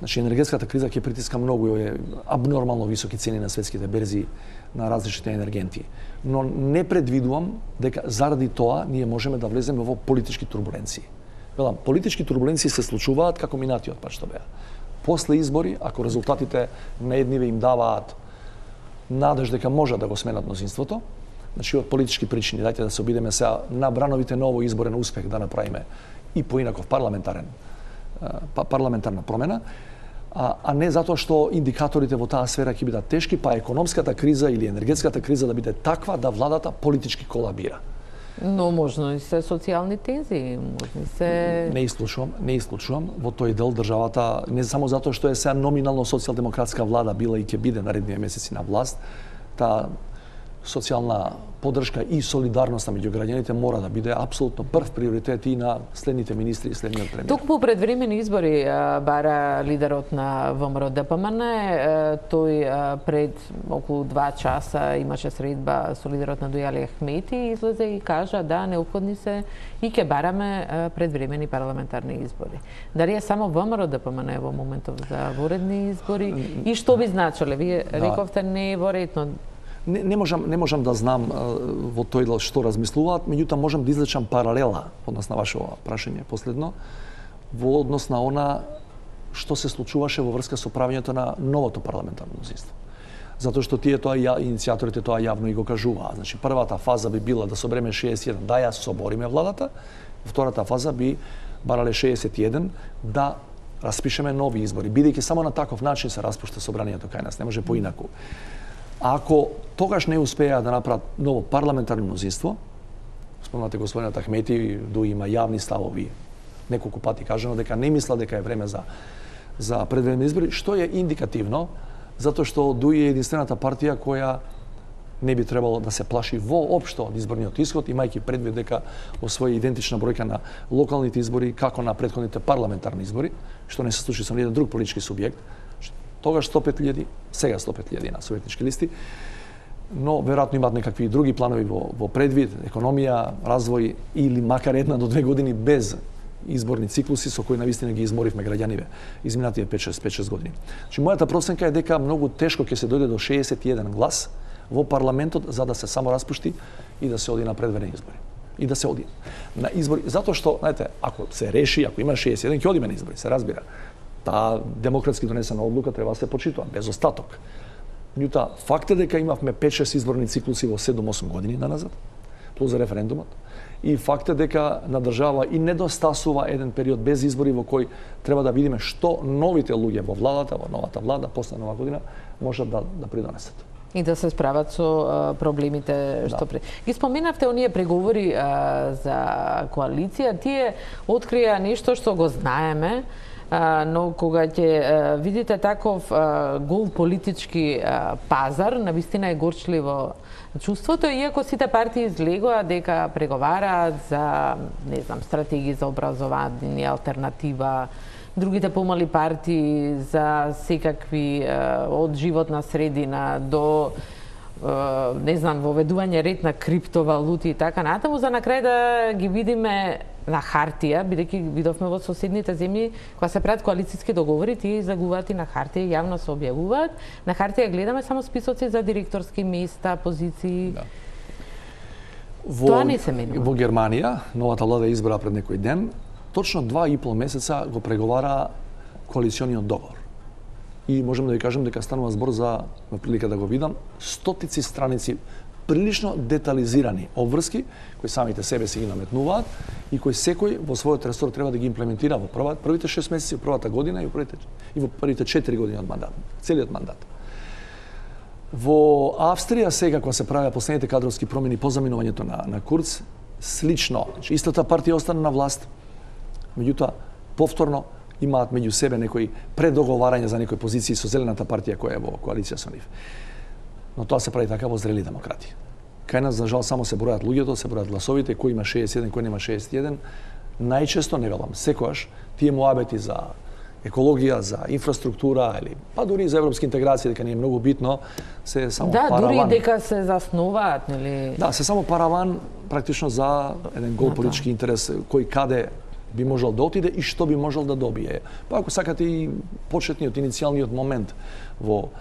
Значи енергетската криза ќе притиска многу е абнормално високи цени на светските берзи на различните енергенти. Но не предвидувам дека заради тоа ние можеме да влеземе во политички турбуленции. Велам, политички турбуленции се случуваат како минатиот пат што беа. После избори, ако резултатите на едниве им даваат надеж дека може да го сменат мнозинството, значи од политички причини, дајте да се обидеме сега на брановите на овој изборен успех да направиме и поинаков парламентарен парламентарна промена, а, а не затоа што индикаторите во таа сфера ќе бидат тешки, па економската криза или енергетската криза да биде таква да владата политички колабира. Но можно и се социјални тензии, можно и се... Не исклучувам, не исклучувам. Во тој дел државата, не само затоа што е сега номинално социјалдемократска влада била и ќе биде наредниве месеци на власт, таа социјална поддршка и солидарноста меѓу граѓаните мора да биде апсолутно прв приоритет и на следните министри и следниот премиер. Туку по предвремени избори бара лидерот на ВМРО Д П М Н, тој пред околу два часа имаше средба со лидерот на Дујали Ахмети и излезе и кажа да неопходни се и ќе бараме предвремени парламентарни избори. Дали е само ВМРО Д П М Н во моментов за воредни избори и што би значеле? Вие рековте не е во ред, но Не, не можам не можам да знам во тој дел што размислуваат, меѓутоа можам да извлечам паралела однос на вашето прашање последно во однос на она што се случуваше во врска со правењето на новото парламентарно мнозинство. Затоа што тие тоа ја, иницијаторите тоа јавно и го кажуваа. Значи првата фаза би била да собереме шеесет и еден да ја собориме владата, втората фаза би барале шеесет и еден да распишеме нови избори, бидејќи само на таков начин се распушта собранието кај нас, не може поинаку. Ако тогаш не успеа да направат ново парламентарно мнозинство, спомнате господинот Ахмети, ду има јавни ставови, неколку пати кажано дека не мисла дека е време за за предвремени избори, што е индикативно, затоа што ду е единствената партија која не би требало да се плаши воопшто од изборниот исход, имајќи предвид дека освои идентична бројка на локалните избори како на претходните парламентарни избори, што не се случи со ниеден друг политички субјект. Тогаш сто пет илјади, сега сто пет илјади на советнички листи, но веројатно имаат некакви други планови во, во предвид, економија, развој или макар една до две години без изборни циклуси со кои навистина ги изморивме граѓаниве изминативе пет-шест години. Значи мојата проценка е дека многу тешко ќе се дојде до шеесет и еден глас во парламентот за да се само распушти и да се оди на предварени избори. И да се оди на избори, затоа што, знаете, ако се реши, ако има шеесет и еден, ќе одиме на избори, се разбира. Таа демократски донесена одлука треба да се почитува без остаток. Меѓутоа, факт е дека имавме пет-шест изборни циклуси во седум-осум години наназад, плюс за референдумот. И факт е дека на држава и недостасува еден период без избори во кој треба да видиме што новите луѓе во владата, во новата влада, после нова година, можат да, да придонесат. И да се справат со а, проблемите што да. Пред. Ги споменавте оние преговори а, за коалиција, тие открија нешто што го знаеме, а, но кога ќе видите таков а, гол политички а, пазар, навистина е горчливо чувството, иако сите партии излегоа дека преговараат за, не знам, стратегии за образование, алтернатива, другите помали партии за секакви од животна средина до не знам, воведување ред на криптовалути и така натаму, за на крај да ги видиме на хартија, бидејќи видовме во соседните земји, кога се прават коалициски договори, тие излегуваат и на хартија, јавно се објавуваат. На хартија гледаме само списоци за директорски места, позиции. Да. Во, Тоа не се менува. Во Германија, новата влада избра пред некој ден, точно два и пол месеца го преговара коалициониот договор. И можеме да ви кажем дека станува збор за, на прилика да го видам, стотици страници прилично детализирани обврски, кои самите себе си ги наметнуваат и кои секој во својот ресор треба да ги имплементира во прва, првите шест месеци, првата година и во првите, и во првите четири години од мандат, целиот мандат. Во Австрија сега, кога се правеа последните кадровски промени по заминувањето на, на Курц, слично, значи, истата партија остана на власт, меѓутоа, повторно, имаат меѓу себе некои предоговарања за некои позиции со Зелената партија која е во коалиција со нив. Но тоа се прави така во зрели демократи. Кај нас, за жал, само се бројат луѓето, се бројат гласовите, кој има шеесет и еден, кој нема шеесет и еден. Најчесто, не велам, секојаш, тие муабети за екологија, за инфраструктура, или па дури за европски интеграција, дека не е многу битно, се само да, параван. Да, дури дека се заснуваат, нели? Да, се само параван, практично за еден гол политички интерес, кој каде би можел да отиде и што би можел да добие. Па ако сакате и почетниот, иницијалниот момент во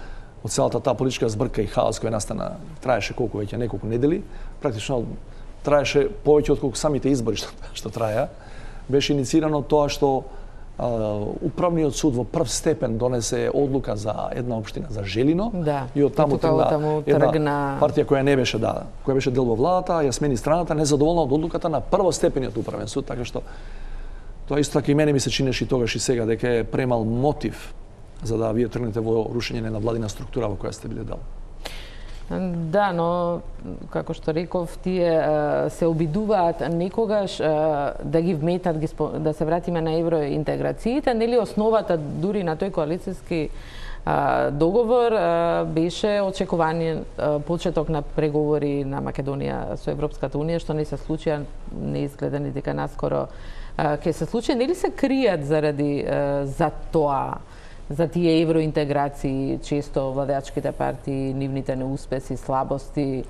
од целата таа политичка збрка и хаос која настана, траеше колку веќе неколку недели, практично траеше повеќе од колку самите избори што, што траја. Беше инициирано тоа што а, управниот суд во прв степен донесе одлука за една општина за Желино, да, и од таму тргна една партија која не беше да, која беше дел во владата, ја смени страната, незадоволна од одлуката на првостепениот управен суд, така што тоа исто така и мене ми се чинеше и тогаш и сега дека е премал мотив за да вие тргнете во рушење на владина структура во која сте биле дел. Да, но како што реков, тие се обидуваат некогаш да ги вметат, да се вратиме на евроинтеграциите, нели основата дури на тој коалициски договор беше очекување почеток на преговори на Македонија со Европската унија, што не се случи, не изгледа ни дека наскоро ќе се случи. Нели се кријат заради за тоа, за тие евроинтеграции, често владеачките партии, нивните неуспеси, слабости?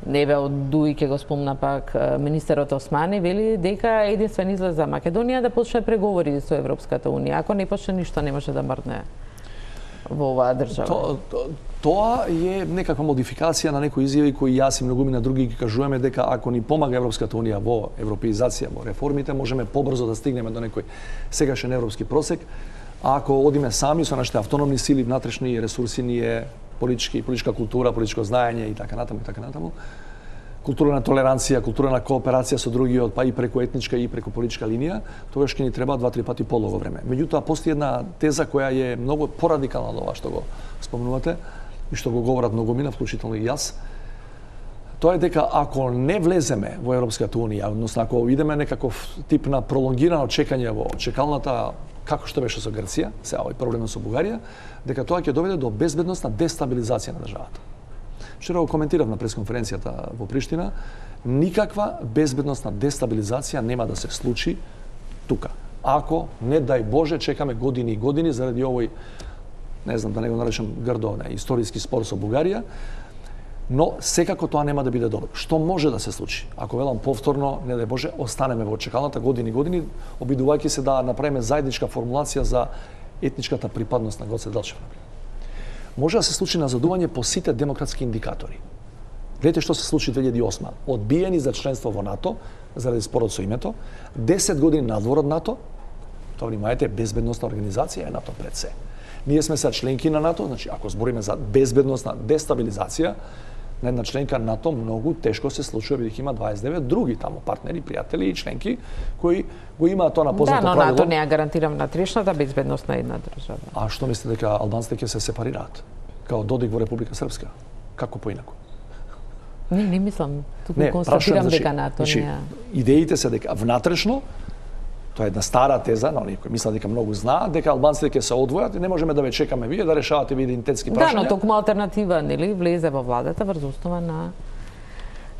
Неве од Дуи ќе го спомна пак министерот Османи, вели дека единствен излез за Македонија да почне преговори со Европската унија. Ако не почне, ништо не може да мрдне во оваа држава. То, то, тоа е некаква модификација на некои изјави кои јас и многумина други ги кажуваме дека ако ни помага Европската унија во европеизација, во реформите, можеме побрзо да стигнеме до некој сегашен европски просек. А ако одиме сами со нашите автономни сили, внатрешни ресурси, ние политички, политичка култура, политичко знаење и така натаму и така натаму, култура на толеранција, култура на кооперација со другиот, па и преку етничка и преку политичка линија, тогаш ќе ни треба два-три пати подолго време. Меѓутоа, постои една теза која е многу порадикална од ова што го спомнувате и што го говорат многумина, вклучително и јас. Тоа е дека ако не влеземе во Европската унија, односно ако идеме некаков тип на пролонгирано чекање во чекалната, како што беше со Грција, сега овој проблем со Бугарија, дека тоа ќе доведе до безбедносна дестабилизација на државата. Вчера го коментирав на пресконференцијата во Приштина, никаква безбедносна дестабилизација нема да се случи тука. Ако, не дај Боже, чекаме години и години заради овој, не знам да не го наречам грдо, не, историски спор со Бугарија, но секако тоа нема да биде добро. Што може да се случи? Ако велам повторно, не дај Боже, останеме во чекалната години и години, обидувајќи се да направиме заедничка формулација за етничката припадност на Гоце Делчев. Може да се случи назадување по сите демократски индикатори. Гледате што се случи две илјади и осма. Одбиени за членство во НАТО, заради спорот со името, десет години надвор од НАТО, тоа внимајте, безбедносна организација е НАТО пред се. Ние сме сега членки на НАТО, значи ако збориме за безбедносна дестабилизација, на една членка НАТО многу тешко се случува, бидејќи има дваесет и девет други таму партнери, пријатели и членки кои го имаат тоа на познато правило. Да, но правило. НАТО не ја гарантира внатрешната безбедност на една држава. А што мислите дека албанците ќе се сепарираат? Као Додик во Република Српска? Како поинаку? Не, не мислам. Туку Не, констатирам значи, дека НАТО значи, не. Идеите се дека внатрешно, тоа е една стара теза, на оние кои мислат дека многу знаат, дека албанците ќе се одвојат и не можеме да ве чекаме вие да решавате ви идентитетски прашања. Да, но токму алтернатива, нели, влезе во владата врз основа на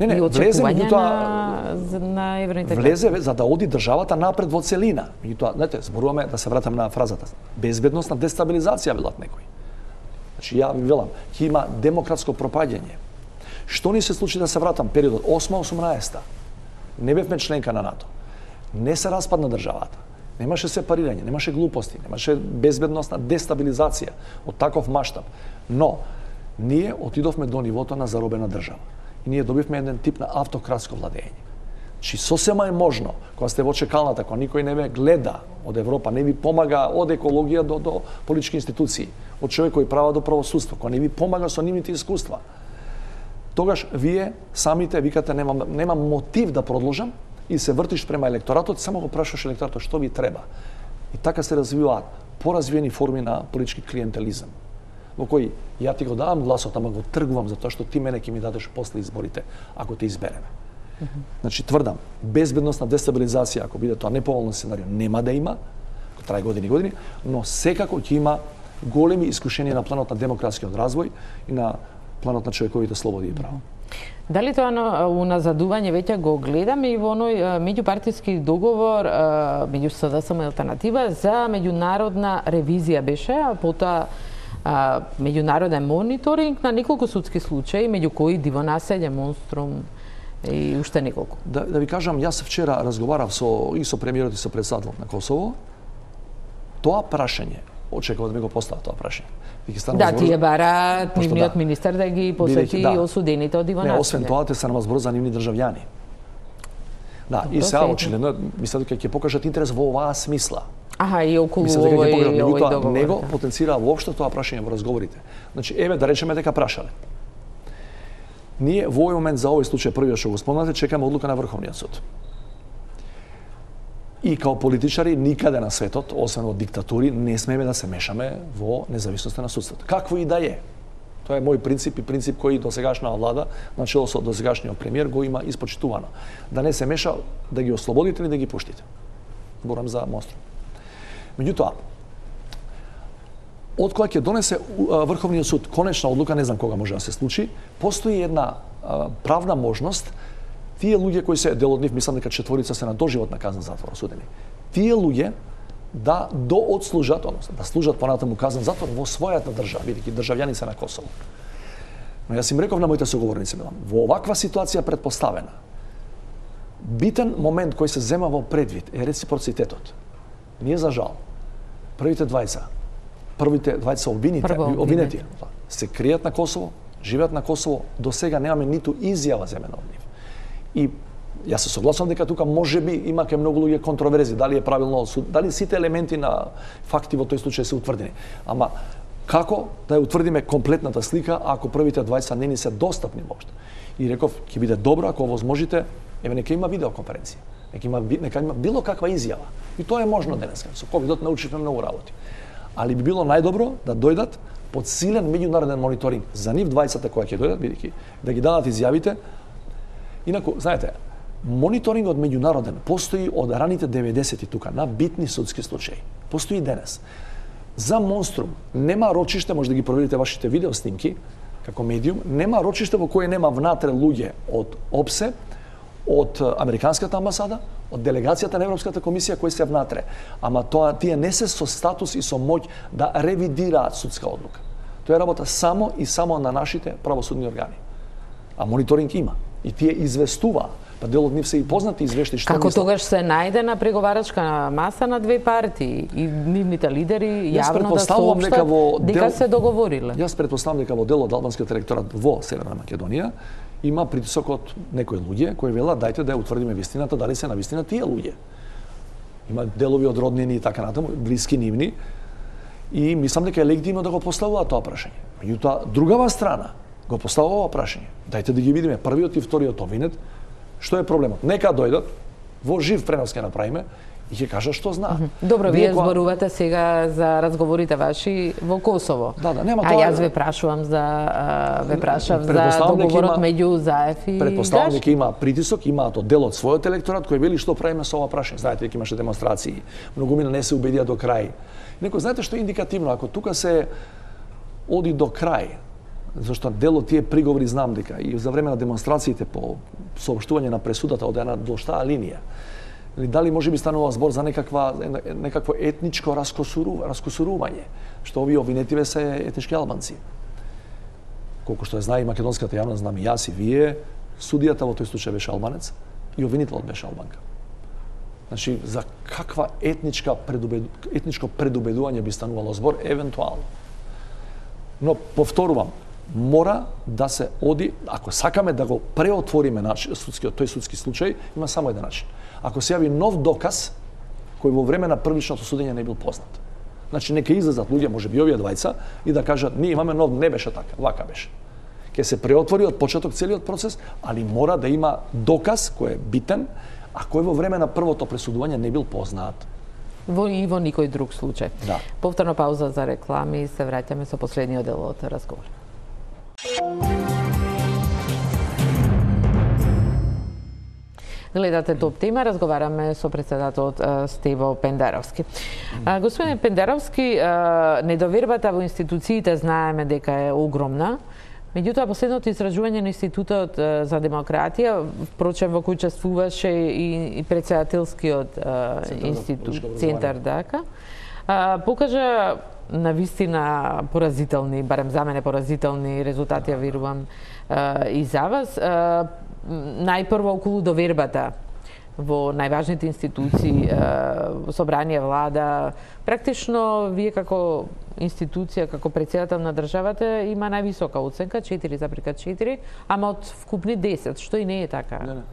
Не, не, и влезе, очекување меѓутоа, на, на евроинтеграција. влезе за да оди државата напред во целина. Меѓутоа, знаете, зборуваме да се вратам на фразата. Безбедносна дестабилизација велат некои. Значи ја ви велам, ќе има демократско пропаѓање. Што ни се случи да се вратам периодот осма осумнаесета? Не бевме членка на НАТО. Не се распадна државата. Немаше сепарирање, немаше глупости, немаше безбедносна дестабилизација од таков маштаб. Но ние отидовме до нивото на заробена држава. И ние добивме еден тип на автократско владење. Чи сосема е можно, кога сте во чекалната, кога никој не ве гледа од Европа, не ви помага од екологија до, до политички институции, од човек кој права до правосудство, кога не ви помага со нивните искуства, тогаш вие самите викате немам, немам мотив да продолжам и се вртиш према електоратот, само го прашуваш електоратот што ви треба. И така се развиваат поразвиени форми на политички клиентелизам, во кој ја ти го давам гласот, ама го тргувам за тоа што ти мене ќе ми дадеш после изборите, ако те избереме. Mm -hmm. Значи, тврдам, безбедносна дестабилизација, ако биде тоа неповолно сценарио, нема да има, ако трае години и години, но секако ќе има големи искушенија на планот на демократскиот развој и на планот на човековите слободи и права. Дали тоа на уназадување веќе го гледаме и во оној меѓупартиски договор меѓу СДСМ и Алтернатива за меѓународна ревизија беше, а потоа меѓународен мониторинг на неколку судски случаи, меѓу кои диво населје, монструм и уште неколку. Да, да ви кажам, јас вчера разговарав со и со премиерот и со председателот на Косово. Тоа прашање, очекував да ми го постават тоа прашање. Да, тие бараат нивниот да. министер да ги посети да. осудените од диво населје. Не, освен тоа, те се на збор за нивни државјани. Да, и сега очигледно мислам дека ќе покажат интерес во оваа смисла. Аха, и околу овој овој договор. Него потенцира воопшто тоа прашање во разговорите. Значи, еве да речеме дека прашале. Ние во овој момент за овој случај првиот што го спомнате, чекаме одлука на Врховниот суд. И као политичари никаде на светот, освен во диктатури, не смееме да се мешаме во независноста на судството. Какво и да е. Тоа е мој принцип и принцип кој досегашна влада, начело со досегашниот премиер, го има испочитувано. Да не се меша, да ги ослободите или да ги пуштите. Зборам за монструм. Меѓутоа, од кога ќе донесе Врховниот суд конечна одлука, не знам кога може да се случи, постои една а, правна можност тие луѓе кои се дел од нив, мислам дека четворица се на доживотна казна затвор осудени. Тие луѓе да доотслужат, односно да служат понатаму казна затвор во својата држава, бидејќи државјани се на Косово. Но јас им реков на моите соговорници, во оваква ситуација предпоставена, битен момент кој се зема во предвид е реципроцитетот. Ние за жал, првите двајца, првите двајца обвините, обвинети, се кријат на Косово, живеат на Косово, до сега немаме ниту изјава земена од нив. И јас се согласувам дека тука можеби има ке многу луѓе контроверзи, дали е правилно, дали сите елементи на факти во тој случај се утврдени. Ама како да ја утврдиме комплетната слика ако првите двајца не ни се достапни воопшто? И реков, ќе биде добро ако возможите, еве нека има видеоконференција. Нека има, нека има било каква изјава. И тоа е можно денеска. Со ковидот научивме многу работи. Али би било најдобро да дојдат под силен меѓународен мониторинг за нив двајцата кои ќе дојдат, бидејќи да ги дадат изјавите. Инаку, знаете, мониторингот меѓународен постои од раните деветдесети тука на битни судски случаи. Постои денес. За монструм нема рочиште, може да ги проверите вашите видео снимки како медиум, нема рочиште во кое нема внатре луѓе од ОПСЕ, од Американската амбасада, од делегацијата на Европската комисија кои се внатре. Ама тоа тие не се со статус и со моќ да ревидираат судска одлука. Тоа е работа само и само на нашите правосудни органи. А мониторинг има. И тие известува Па дел од нив се и познати извешти што Како мислат. тогаш се најде на преговарачка маса на две партии и нивните лидери Јас јавно да претпоставувам дека соопштат во дека дел- се договориле. Јас претпоставам дека во дел од албанскиот електорат во Северна Македонија има притисок од некои луѓе кои велат дајте да ја утврдиме вистината, дали се на вистина тие луѓе. Има делови од роднини и така натаму, блиски нивни, и мислам дека е легитимно да го поставуваат тоа прашање. Меѓутоа, другава страна го поставува ова прашање. Дајте да ги видиме првиот и вториот овинет, што е проблемот. Нека дојдат, во жив пренос ќе направиме и ќе кажат што знаат. Добро, вие кога- зборувате сега за разговорите ваши во Косово. Да, да, нема а тоа- јас ве прашувам за а, ве прашав за Предпоставам дека договорот има- меѓу Заев и Предпоставам дека Гашки. има притисок, имаат од дел од својот електорат кој вели што правиме со ова прашање. Знаете дека имаше демонстрации, многумина не се убедија до крај. Некој знаете што е индикативно, ако тука се оди до крај, зашто дел од тие приговори знам дека и за време на демонстрациите по соопштување на пресудата од една до штаа линија, или дали може би станува збор за некаква некакво етничко раскосурување, раскосурување, што овие обвинетиве се етнички албанци. Колку што ја знае и македонската јавност, знам и јас и вие, судијата во тој случај беше албанец и обвинителот беше албанка. Значи, за каква етничка предубеду... етничко предубедување би станувало збор, евентуално. Но, повторувам, мора да се оди, ако сакаме да го преотвориме наш, судскиот, тој судски случај, има само еден начин. Ако се јави нов доказ, кој во време на првичното судење не бил познат. Значи, нека излезат луѓе, може би овие двајца, и да кажат, ние имаме нов, не беше така, вака беше. Ке се преотвори од почеток целиот процес, али мора да има доказ кој е битен, а кој во време на првото пресудување не бил познат. Во и во никој друг случај. Да. Повторна пауза за реклами и се враќаме со последниот дел од разговор. Гледате Топ тема, разговараме со председателот Стево Пендаровски. Господин Пендаровски, недовербата во институциите знаеме дека е огромна. Меѓутоа, последното истражување на Институтот за демократија, впрочем во кој учествуваше и, и председателскиот институт, Центар ДАКА, покажа на вистина поразителни, барем за мене поразителни резултати, ја верувам и за вас. Најпрво околу довербата во најважните институции, собрание, влада, практично вие како институција, како председател на државата има највисока оценка четири запирка четири, ама од вкупни десет, што и не е така. Не, не.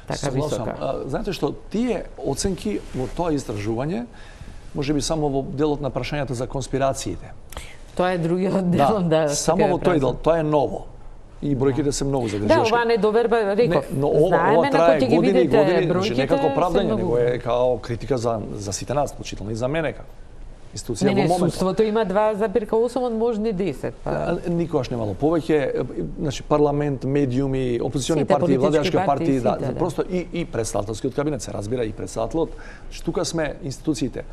Така Согласам. висока. А, знаете што, тие оценки во тоа истражување, може би само во делот на прашањата за конспирациите. Тоа е другиот дел, да. само во тој дел, тоа е ново. И бројките се многу Да, загрижувачки. ова недоверба, реков. Не, но ова, знаеме, ова трае ако ќе ги години и видите години, значи бројките, не како се правдање, многу. него е као критика за, за сите нас, вклучително и за мене како институција Не, не, во моментот. судството има два запирка осум од можни десет. Па... А, Никогаш немало повеќе, значи парламент, медиуми, опозициони Сите партии, политички владеачки партии, партии, да, сите, да. просто и и претставителскиот кабинет се разбира и претставителот. Значи тука сме институциите.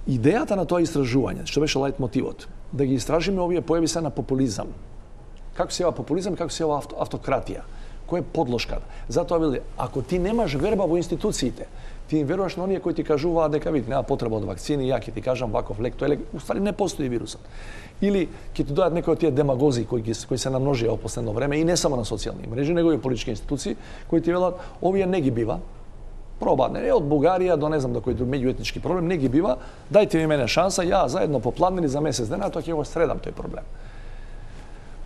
Идејата на тоа истражување, што беше лајт мотивот, да ги истражиме овие појави се на популизам. Како се јава популизам и како се јава авто, автократија? Кој е подлошката? Затоа вели, ако ти немаш верба во институциите, ти им веруваш на оние кои ти кажуваат дека види нема потреба од вакцини, ја ќе ти кажам ваков лек, тој лек, уствари не постои вирусот. Или ќе ти дојдат некои од тие демагози кои, кои се намножија во последно време и не само на социјални мрежи, него и политички институции кои ти велат овие не ги бива. Проба, не од Бугарија до не знам до кој друг меѓуетнички проблем не ги бива. Дајте ми мене шанса, ја заедно попладнени за месец дена, тоа ќе го средам тој проблем.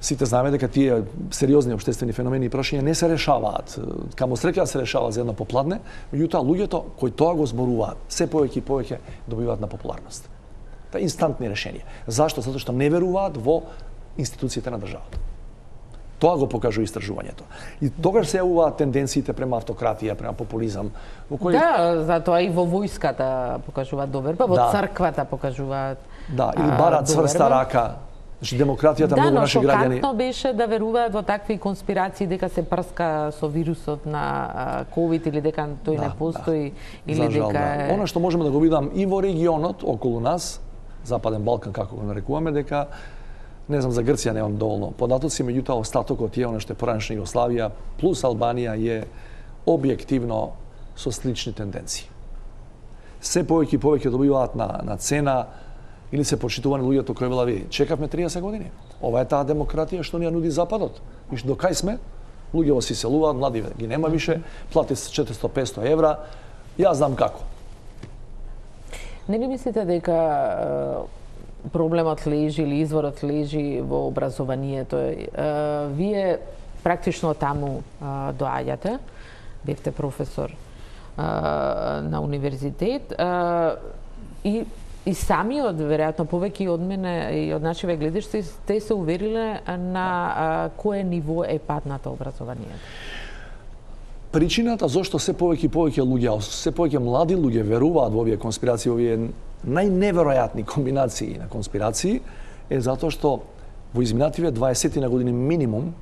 Сите знаеме дека тие сериозни општествени феномени и прашања не се решаваат. Камо среќа се решава за едно попладне, меѓутоа луѓето кои тоа го зборуваат, се повеќе и повеќе добиваат на популарност. Тоа инстантни решенија. Зашто? Затоа што не веруваат во институциите на државата. Тоа го покажува истражувањето. И тогаш се јавуваат тенденциите према автократија, према популизам, во кој Да, затоа и во војската покажуваат доверба, во Да. црквата покажуваат да, или бараат цврста рака. Значи демократијата да, многу но наши граѓани. шокантно беше да веруваат во такви конспирации дека се прска со вирусот на ковид или дека тој Да, не постои да. или За жал, дека да. е... Она што можеме да го видам и во регионот околу нас, Западен Балкан како го нарекуваме, дека не знам за Грција немам доволно податоци, меѓутоа остатокот е она што е поранешна Југославија плюс Албанија е објективно со слични тенденции. Се повеќе и повеќе добиваат на на цена или се почитувани луѓето кои вела ви чекавме триесет години. Ова е таа демократија што ни ја нуди Западот. И што до кај сме? Луѓе во си селуваат, млади ги нема више, плати се четиристо до петстотини евра. Јас знам како. Не ли мислите дека проблемот лежи или изворот лежи во образованието? Вие практично таму доаѓате, бевте професор на универзитет и и самиот, веројатно повеќе од мене и од нашиве гледиште, те се увериле на кое ниво е паднато образованието. Причината зошто се повеќе и повеќе луѓе, се повеќе млади луѓе веруваат во овие конспирации, овие најневеројатни комбинации на конспирации, е затоа што во изминативе дваесет години минимум,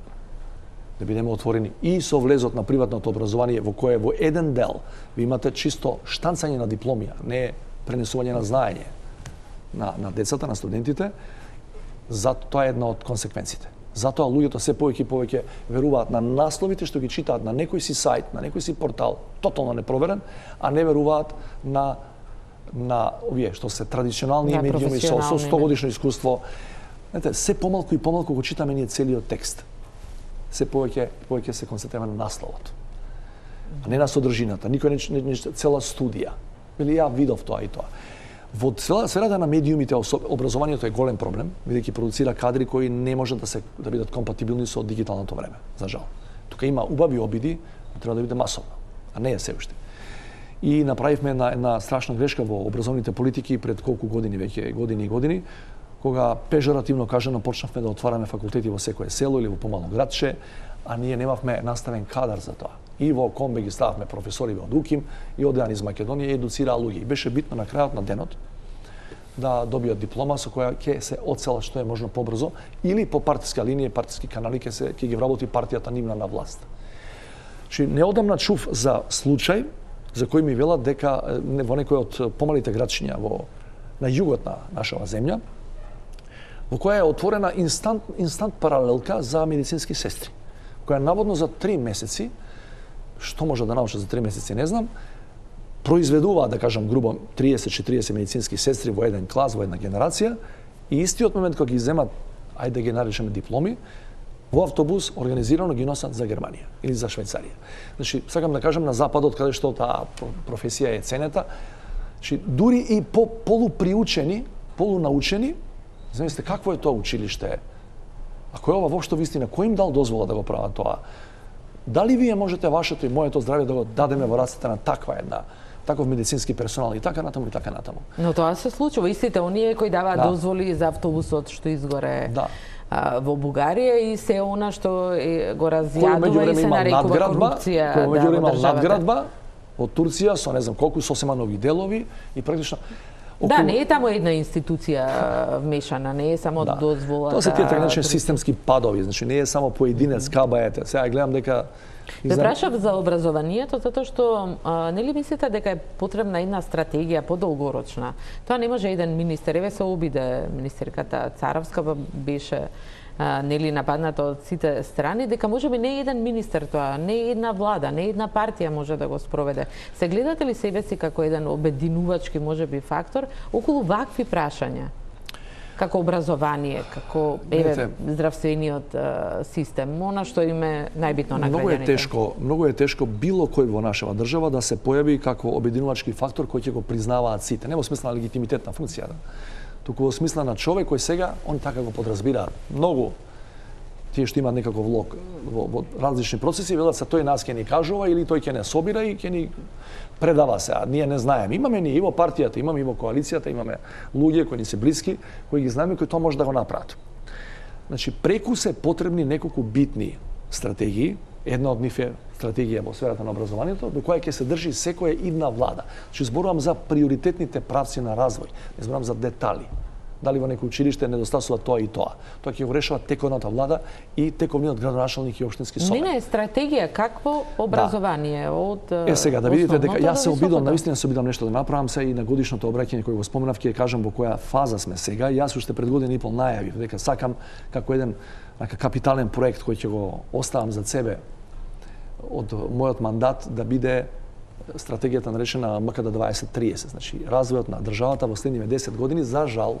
да бидеме отворени, и со влезот на приватното образование, во кое во еден дел ви имате чисто штанцање на дипломија, не пренесување на знаење на, на децата, на студентите, затоа тоа е една од консеквенците. Затоа луѓето се повеќе и повеќе веруваат на насловите што ги читаат на некој си сајт, на некој си портал, тотално непроверен, а не веруваат на на овие што се традиционални да, медиуми со, со сто годишно искуство. Знаете, се помалку и помалку го читаме ние целиот текст. Се повеќе повеќе се концентрираме на насловот, а не на содржината. Никој не, не, не цела студија. Или ја видов тоа и тоа. Во сферата на медиумите образованието е голем проблем, бидејќи продуцира кадри кои не можат да се да бидат компатибилни со дигиталното време, за жал. Тука има убави обиди, но треба да биде масовно, а не е се уште. И направивме една, една страшна грешка во образовните политики пред колку години веќе, години и години, кога пежоративно кажано почнавме да отвараме факултети во секое село или во помало градче, а ние немавме наставен кадар за тоа. И во Комбе ги стававме професори од УКИМ и одеан из Македонија и едуцираа луѓе. И беше битно на крајот на денот да добијат диплома со која ќе се оцела што е можно побрзо или по партиска линија, партиски канали ќе се ќе ги вработи партијата нивна на власт. Значи неодамна чув за случај за кој ми велат дека во некој од помалите градчиња во на југот на нашава земја, во која е отворена инстант инстант паралелка за медицински сестри, која наводно за три месеци, што може да научат за три месеци, не знам, произведуваат, да кажам грубо, триесет до четириесет медицински сестри во еден клас, во една генерација, и истиот момент кога ги земат, ајде да ги наречеме дипломи, во автобус организирано ги носат за Германија или за Швајцарија. Значи, сакам да кажам на западот, каде што таа професија е ценета, значи, дури и по полуприучени, полунаучени, замислите какво е тоа училиште? Ако е ова воопшто вистина, кој им дал дозвола да го прават тоа? Дали вие можете вашето и моето здравје да го дадеме во рацете на таква една, таков медицински персонал и така натаму и така натаму? Но тоа се случува. Истите оние кои даваат да. дозволи за автобусот што изгоре да. а, во Бугарија и се она што е, го разјадува и се нарекува корупција. Кој меѓу време има надградба од Турција со не знам колку сосема нови делови и практично Околу... Да, не е таму една институција вмешана, не е само да. дозвола. Тоа се тие така наречени системски падови, значи не е само поединец кабаете. Сега гледам дека Ве прашав за образованието затоа што а, нели мислите дека е потребна една стратегија подолгорочна? Тоа не може еден министер, еве се обиде министерката Царовска, беше а, нели нападната од сите страни, дека можеби не еден министер тоа, не една влада, не една партија може да го спроведе. Се гледате ли себе си како еден обединувачки можеби фактор околу вакви прашања? Како образование, како еве здравствениот а, систем, она што им е најбитно на граѓаните. Многу е тешко, многу е тешко било кој во нашава држава да се појави како обединувачки фактор кој ќе го признаваат сите, не во смисла на легитимитетна функција, да. Туку во смисла на човек кој сега он така го подразбираат. Многу тие што имаат некаков влог во, во различни процеси велат се тој нас ќе ни кажува или тој ќе не собира и ќе ни предава се, а ние не знаеме. Имаме ние и во партијата, имаме и во коалицијата, имаме луѓе кои ни се блиски, кои ги знаеме, кои тоа може да го направат. Значи, преку се потребни неколку битни стратегии. Една од нив е стратегија во сферата на образованието, до која ќе се држи секоја идна влада. Значи, зборувам за приоритетните правци на развој, не зборувам за детали. Дали во некој училиште недостасува тоа и тоа. Тоа ќе го решава тековната влада и тековниот градоначалник и општински совет. Не, не, стратегија какво образование да. од Е сега да видите дека јас се обидам, навистина се обидам нешто да направам се и на годишното обраќање кој го споменав ќе кажам во која фаза сме сега. Јас уште пред година и пол најавив дека сакам како еден така капитален проект кој ќе го оставам за себе од мојот мандат да биде стратегијата наречена М К Д дваесет триесет, значи развојот на државата во следниве десет години, за жал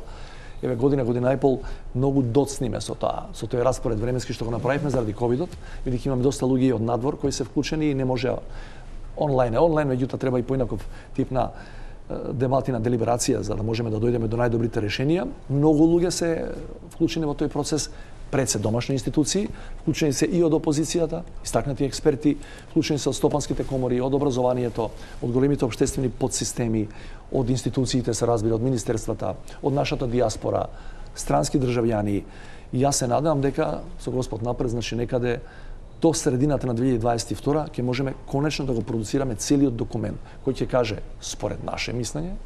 еве година, година и пол многу доцниме со тоа, со тој распоред временски што го направивме заради ковидот, бидејќи имаме доста луѓе од надвор кои се вклучени и не може онлайн е онлайн, меѓутоа треба и поинаков тип на дебати, на делиберација за да можеме да дојдеме до најдобрите решенија. Многу луѓе се вклучени во тој процес, пред се домашни институции, вклучени се и од опозицијата, истакнати експерти, вклучени се од стопанските комори, од образованието, од големите општествени подсистеми, од институциите, се разбира, од министерствата, од нашата диаспора, странски државјани. И јас се надевам дека со Господ напред, значи некаде до средината на две илјади дваесет и втора ќе можеме конечно да го продуцираме целиот документ кој ќе каже според наше мислење,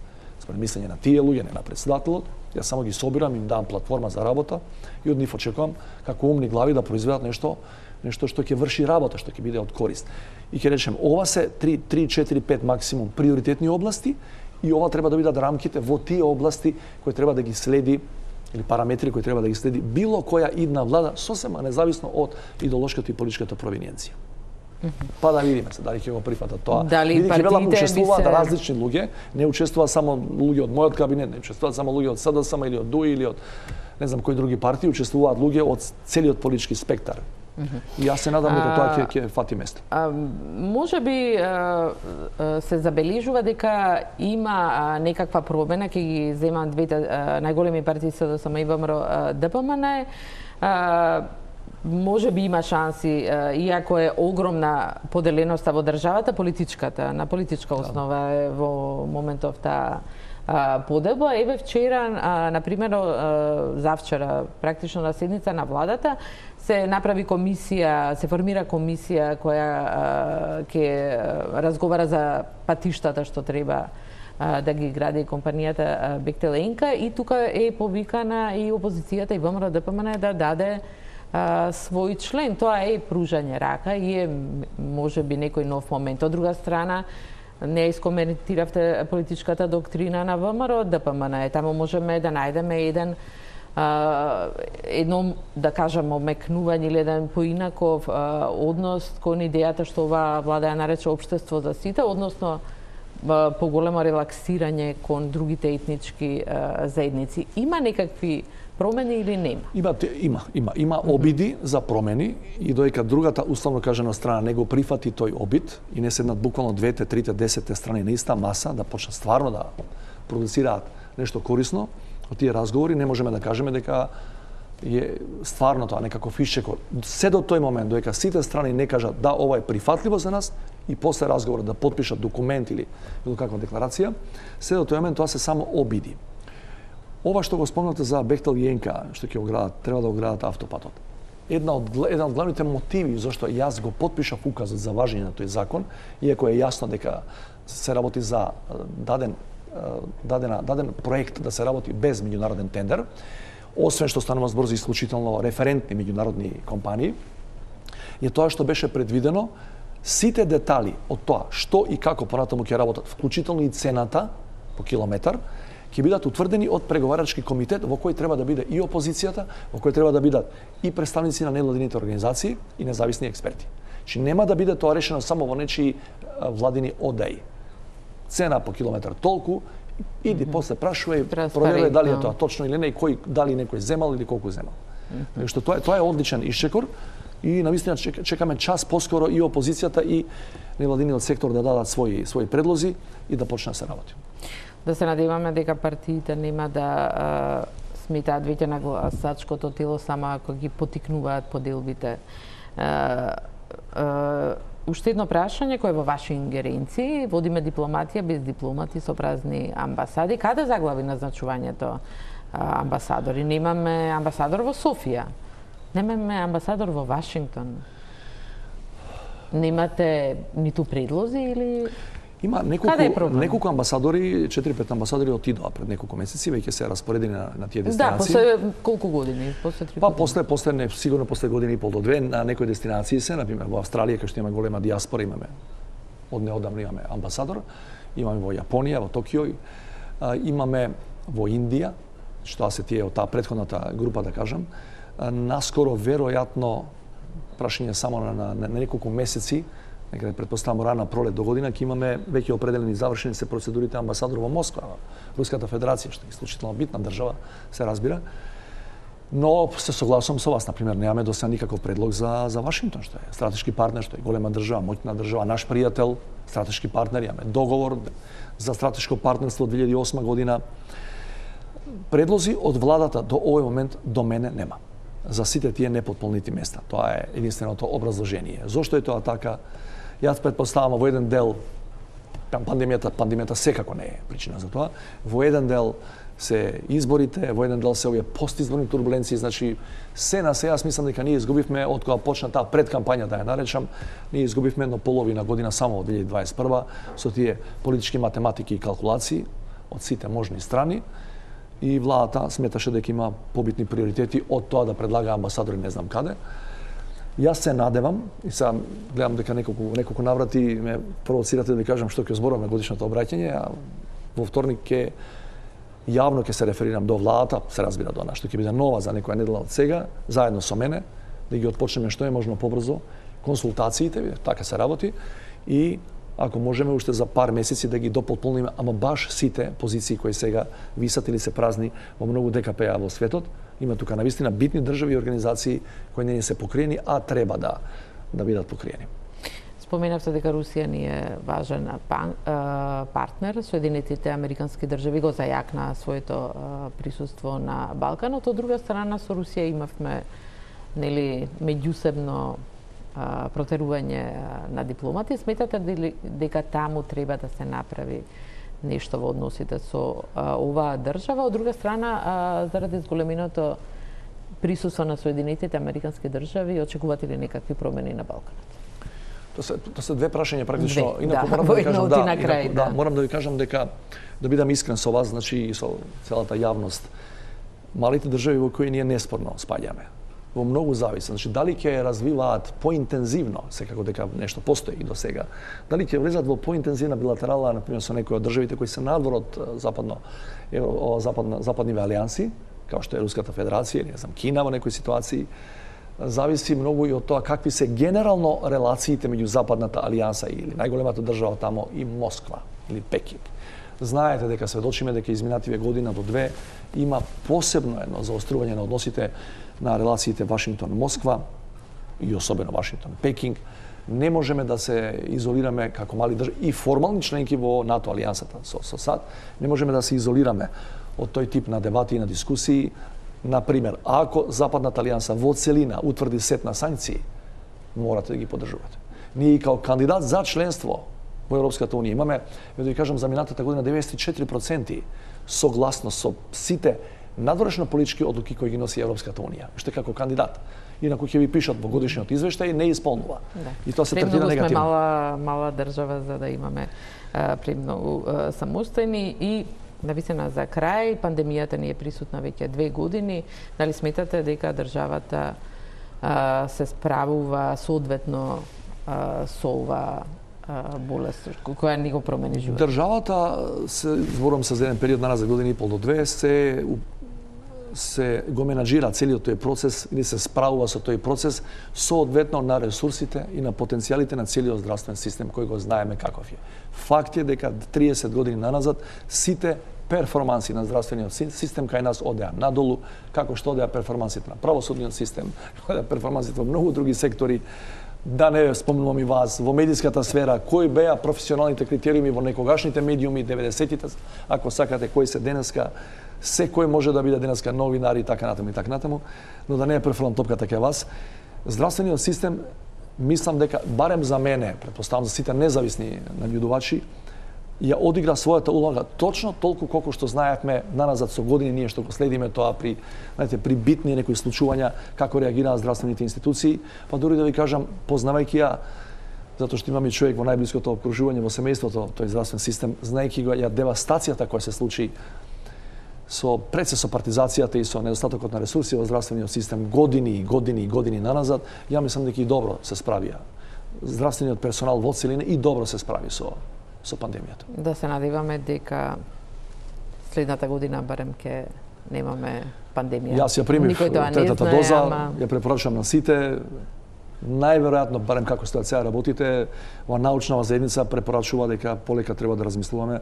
според мислење на тие луѓе, не на председателот. Јас само ги собирам, им давам платформа за работа и од нив очекувам како умни глави да произведат нешто нешто што ќе врши работа, што ќе биде од корист. И ќе речем, ова се три, четири, пет максимум приоритетни области и ова треба да бидат рамките во тие области кои треба да ги следи или параметри кои треба да ги следи било која идна влада, сосема независно од идеолошката и политичката провиниенција. Па да видиме се дали ќе го прифатат тоа. Дали партиите учествуваат се... различни луѓе, не учествуваат само луѓе од мојот кабинет, не учествуваат само луѓе од СДСМ или од ДУИ или од не знам кои други партии, учествуваат луѓе од целиот политички спектар. И јас се надам дека тоа ќе ќе фати место. А, може би а, а, се забележува дека има а, некаква промена, ќе ги земат двете а, најголеми партии СДСМ и ВМРО ДПМН. А, може би има шанси, иако е огромна поделеноста во државата, политичката, на политичка основа е во моментов таа подоба. Еве вчера, например, завчера, практично на седница на владата, се направи комисија, се формира комисија која ќе разговара за патиштата што треба да ги гради компанијата Бехтел Енка, и тука е повикана и опозицијата и ВМРО ДПМН да даде а, свој член. Тоа е пружање рака и е можеби некој нов момент. Од друга страна, не искоментиравте политичката доктрина на ВМРО ДПМН. Таму можеме да најдеме еден Uh, едно, да кажам, омекнување или еден поинаков uh, однос кон идејата што оваа влада ја нарече општество за сите, односно uh, поголемо релаксирање кон другите етнички uh, заедници. Има некакви промени или нема? Има, има, има, има обиди за промени и доека другата, условно кажано, страна не го прифати тој обид и не седнат буквално двете, трите, десетте страни на иста маса да почнат стварно да продуцираат нешто корисно од тие разговори, не можеме да кажеме дека е стварно тоа некако фишчекор. Се до тој момент, доека сите страни не кажат да, ова е прифатливо за нас и после разговор да потпишат документ или било каква декларација, се до тој момент тоа се само обиди. Ова што го спомнате за Бехтел и Енка, што ќе го градат, треба да го градат автопатот. Една од, еден од главните мотиви зашто јас го потпишав указот за важење на тој закон, иако е јасно дека се работи за даден дадена даден проект да се работи без меѓународен тендер, освен што станува збор за исклучително референтни меѓународни компании, е тоа што беше предвидено сите детали од тоа што и како понатаму ќе работат, вклучително и цената по километар, ќе бидат утврдени од преговарачки комитет во кој треба да биде и опозицијата, во кој треба да бидат и представници на невладините организации и независни експерти. Че нема да биде тоа решено само во нечии владини одеи. Цена по километар толку, иди mm -hmm. после прашувај, проверувај дали е тоа точно или не, и кој, дали некој земал или колку земал. Mm -hmm. Што тоа е тоа е одличен исчекор и навистина чек, чекаме час поскоро и опозицијата и невладиниот сектор да дадат своји своји предлози и да почне да се работи. Да се надеваме дека партиите нема да а, смитаат веќе на гласачкото тело само ако ги потикнуваат поделбите. А, а, Уште едно прашање кое е во ваши ингеренции. Водиме дипломатија без дипломати со празни амбасади. Каде заглави назначувањето амбасадори? Немаме амбасадор во Софија. Немаме амбасадор во Вашингтон. Немате ниту предлози или... Има неколку, неколку амбасадори, четири-пет амбасадори отидоа пред неколку месеци, веќе се распоредени на, на тие дестинации. Да, после колку години? После три па години? после, после не, сигурно после година и пол до две, на некои дестинации се, например во Австралија, кај што има голема диаспора, имаме, од неодамно имаме амбасадор, имаме во Јапонија, во Токио, имаме во Индија, што се тие од таа претходната група, да кажам, наскоро, веројатно, прашање само на, на, на неколку месеци, некаде предпоставам рана пролет до година ќе имаме веќе определени завршени се процедурите амбасадор во Москва, Руската Федерација, што е исклучително битна држава, се разбира. Но се согласувам со вас, например, немаме до сега никаков предлог за за Вашингтон, што е стратешки партнер, што е голема држава, моќна држава, наш пријател, стратешки партнер, имаме договор за стратешко партнерство од две илјади и осма година. Предлози од владата до овој момент до мене нема. За сите тие непотполнити места. Тоа е единственото образложение. Зошто е тоа така? Јас претпоставам во еден дел пандемијата, пандемијата секако не е причина за тоа. Во еден дел се изборите, во еден дел се овие постизборни турбуленции, значи се на се јас мислам дека ние изгубивме од кога почна таа предкампања, да ја наречам, ние изгубивме едно половина година само од две илјади дваесет и прва со тие политички математики и калкулации од сите можни страни. И владата сметаше дека има побитни приоритети од тоа да предлага амбасадори не знам каде. Јас се надевам, и сега гледам дека неколку, неколку наврати ме провоцирате да ви кажам што ќе зборувам на годишното обраќање, а во вторник ќе јавно ќе се реферирам до владата, се разбира до нас, што ќе биде нова за некоја недела од сега, заедно со мене, да ги отпочнеме што е можно побрзо консултациите, така се работи, и ако можеме уште за пар месеци да ги допотполниме, ама баш сите позиции кои сега висат или се празни во многу Д К П-а во светот. Има тука навистина битни држави и организации кои не се покриени, а треба да да бидат покриени. Споменавте дека Русија ни е важен пан, а, партнер. Соединетите американски држави го зајакна своето а, присуство на Балканот. Од друга страна, со Русија имавме нели меѓусебно а, протерување на дипломати. Сметате дали, дека таму треба да се направи нешто во односите со а, оваа држава? Од друга страна, а, заради зголеминото присуство на Соединетите американски држави, очекувате ли некакви промени на Балканот? Тоа се, тоа се две прашања практично. Две, инаку да, морам да ви кажам, да, на крај, инаку, да. да, морам да ви кажам дека да бидам искрен со вас, значи и со целата јавност. Малите држави во кои ние неспорно спаѓаме, во многу зависи. Значи дали ќе развиваат поинтензивно, секако дека нешто постои и до сега, дали ќе влезат во поинтензивна билатерала, например со некои од државите кои се надвор од западно ево, западна западниве алијанси, како што е Руската Федерација или не знам Кина во некои ситуации, зависи многу и од тоа какви се генерално релациите меѓу Западната алијанса или најголемата држава тамо и Москва или Пекинг. Знаете дека сведочиме дека изминативе година до две има посебно едно заострување на односите на релациите Вашингтон-Москва и особено Вашингтон-Пекинг. Не можеме да се изолираме како мали држави и формални членки во НАТО алијансата со, со САД. Не можеме да се изолираме од тој тип на дебати и на дискусии. Например, ако Западната алијанса во целина утврди сет на санкции, морате да ги поддржувате. Ние као кандидат за членство во Европската унија имаме, да ви кажам, за минатата година деветдесет и четири проценти согласност со сите надворешно политички одлуки кои ги носи Европската унија, уште како кандидат. Инаку ќе ви пишат во годишниот извештај не исполнува. Да. И тоа се третира негативно. Сме мала мала држава за да имаме а, премногу а, самостојни и навистина за крај, пандемијата ни е присутна веќе две години. Дали сметате дека државата а, се справува соодветно а, со ова а, болест која ни го промени животот? Државата, се, зборувам се за еден период назад, година и пол до две, се се го менаџира целиот тој процес или се справува со тој процес соодветно на ресурсите и на потенцијалите на целиот здравствен систем кој го знаеме каков е. Факт е дека триесет години наназад сите перформанси на здравствениот систем кај нас одеа надолу, како што одеа перформансите на правосудниот систем, одеа перформансите во многу други сектори. Да не спомнувам и вас, во медиската сфера, кои беа професионалните критериуми во некогашните медиуми, деветдесетите, ако сакате, кои се денеска, секој може да биде денеска новинари и така натаму и така натаму, но да не е префрлам топката кај вас. Здравствениот систем, мислам дека, барем за мене, претпоставам за сите независни наблюдувачи, ја одигра својата улога точно толку колку што знаевме наназад со години ние што го следиме тоа при, знаете, при битни некои случувања, како реагираат здравствените институции, па дури да ви кажам, познавајќи ја, затоа што имаме човек во најблиското окружување во семејството, тој здравствен систем, знаејќи го ја девастацијата која се случи со пред се со партизацијата и со недостатокот на ресурси во здравствениот систем години и години и години наназад, ја мислам дека и добро се справија здравствениот персонал во целина и добро се справи со со пандемијата. Да се надеваме дека следната година барем ќе немаме пандемија. Јас ја примив третата доза, ама... ја препорачувам на сите. најверојатно, барем како сте сега работите, ова научнава заедница препорачува дека полека треба да размислуваме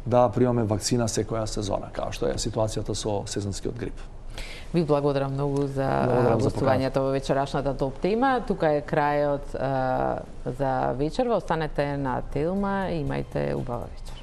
да примаме вакцина секоја сезона, како што е ситуацијата со сезонскиот грип. Ви благодарам многу за гостувањето во вечерашната топ тема. Тука е крајот а, за вечерва. Останете на Телма и имајте убава вечер.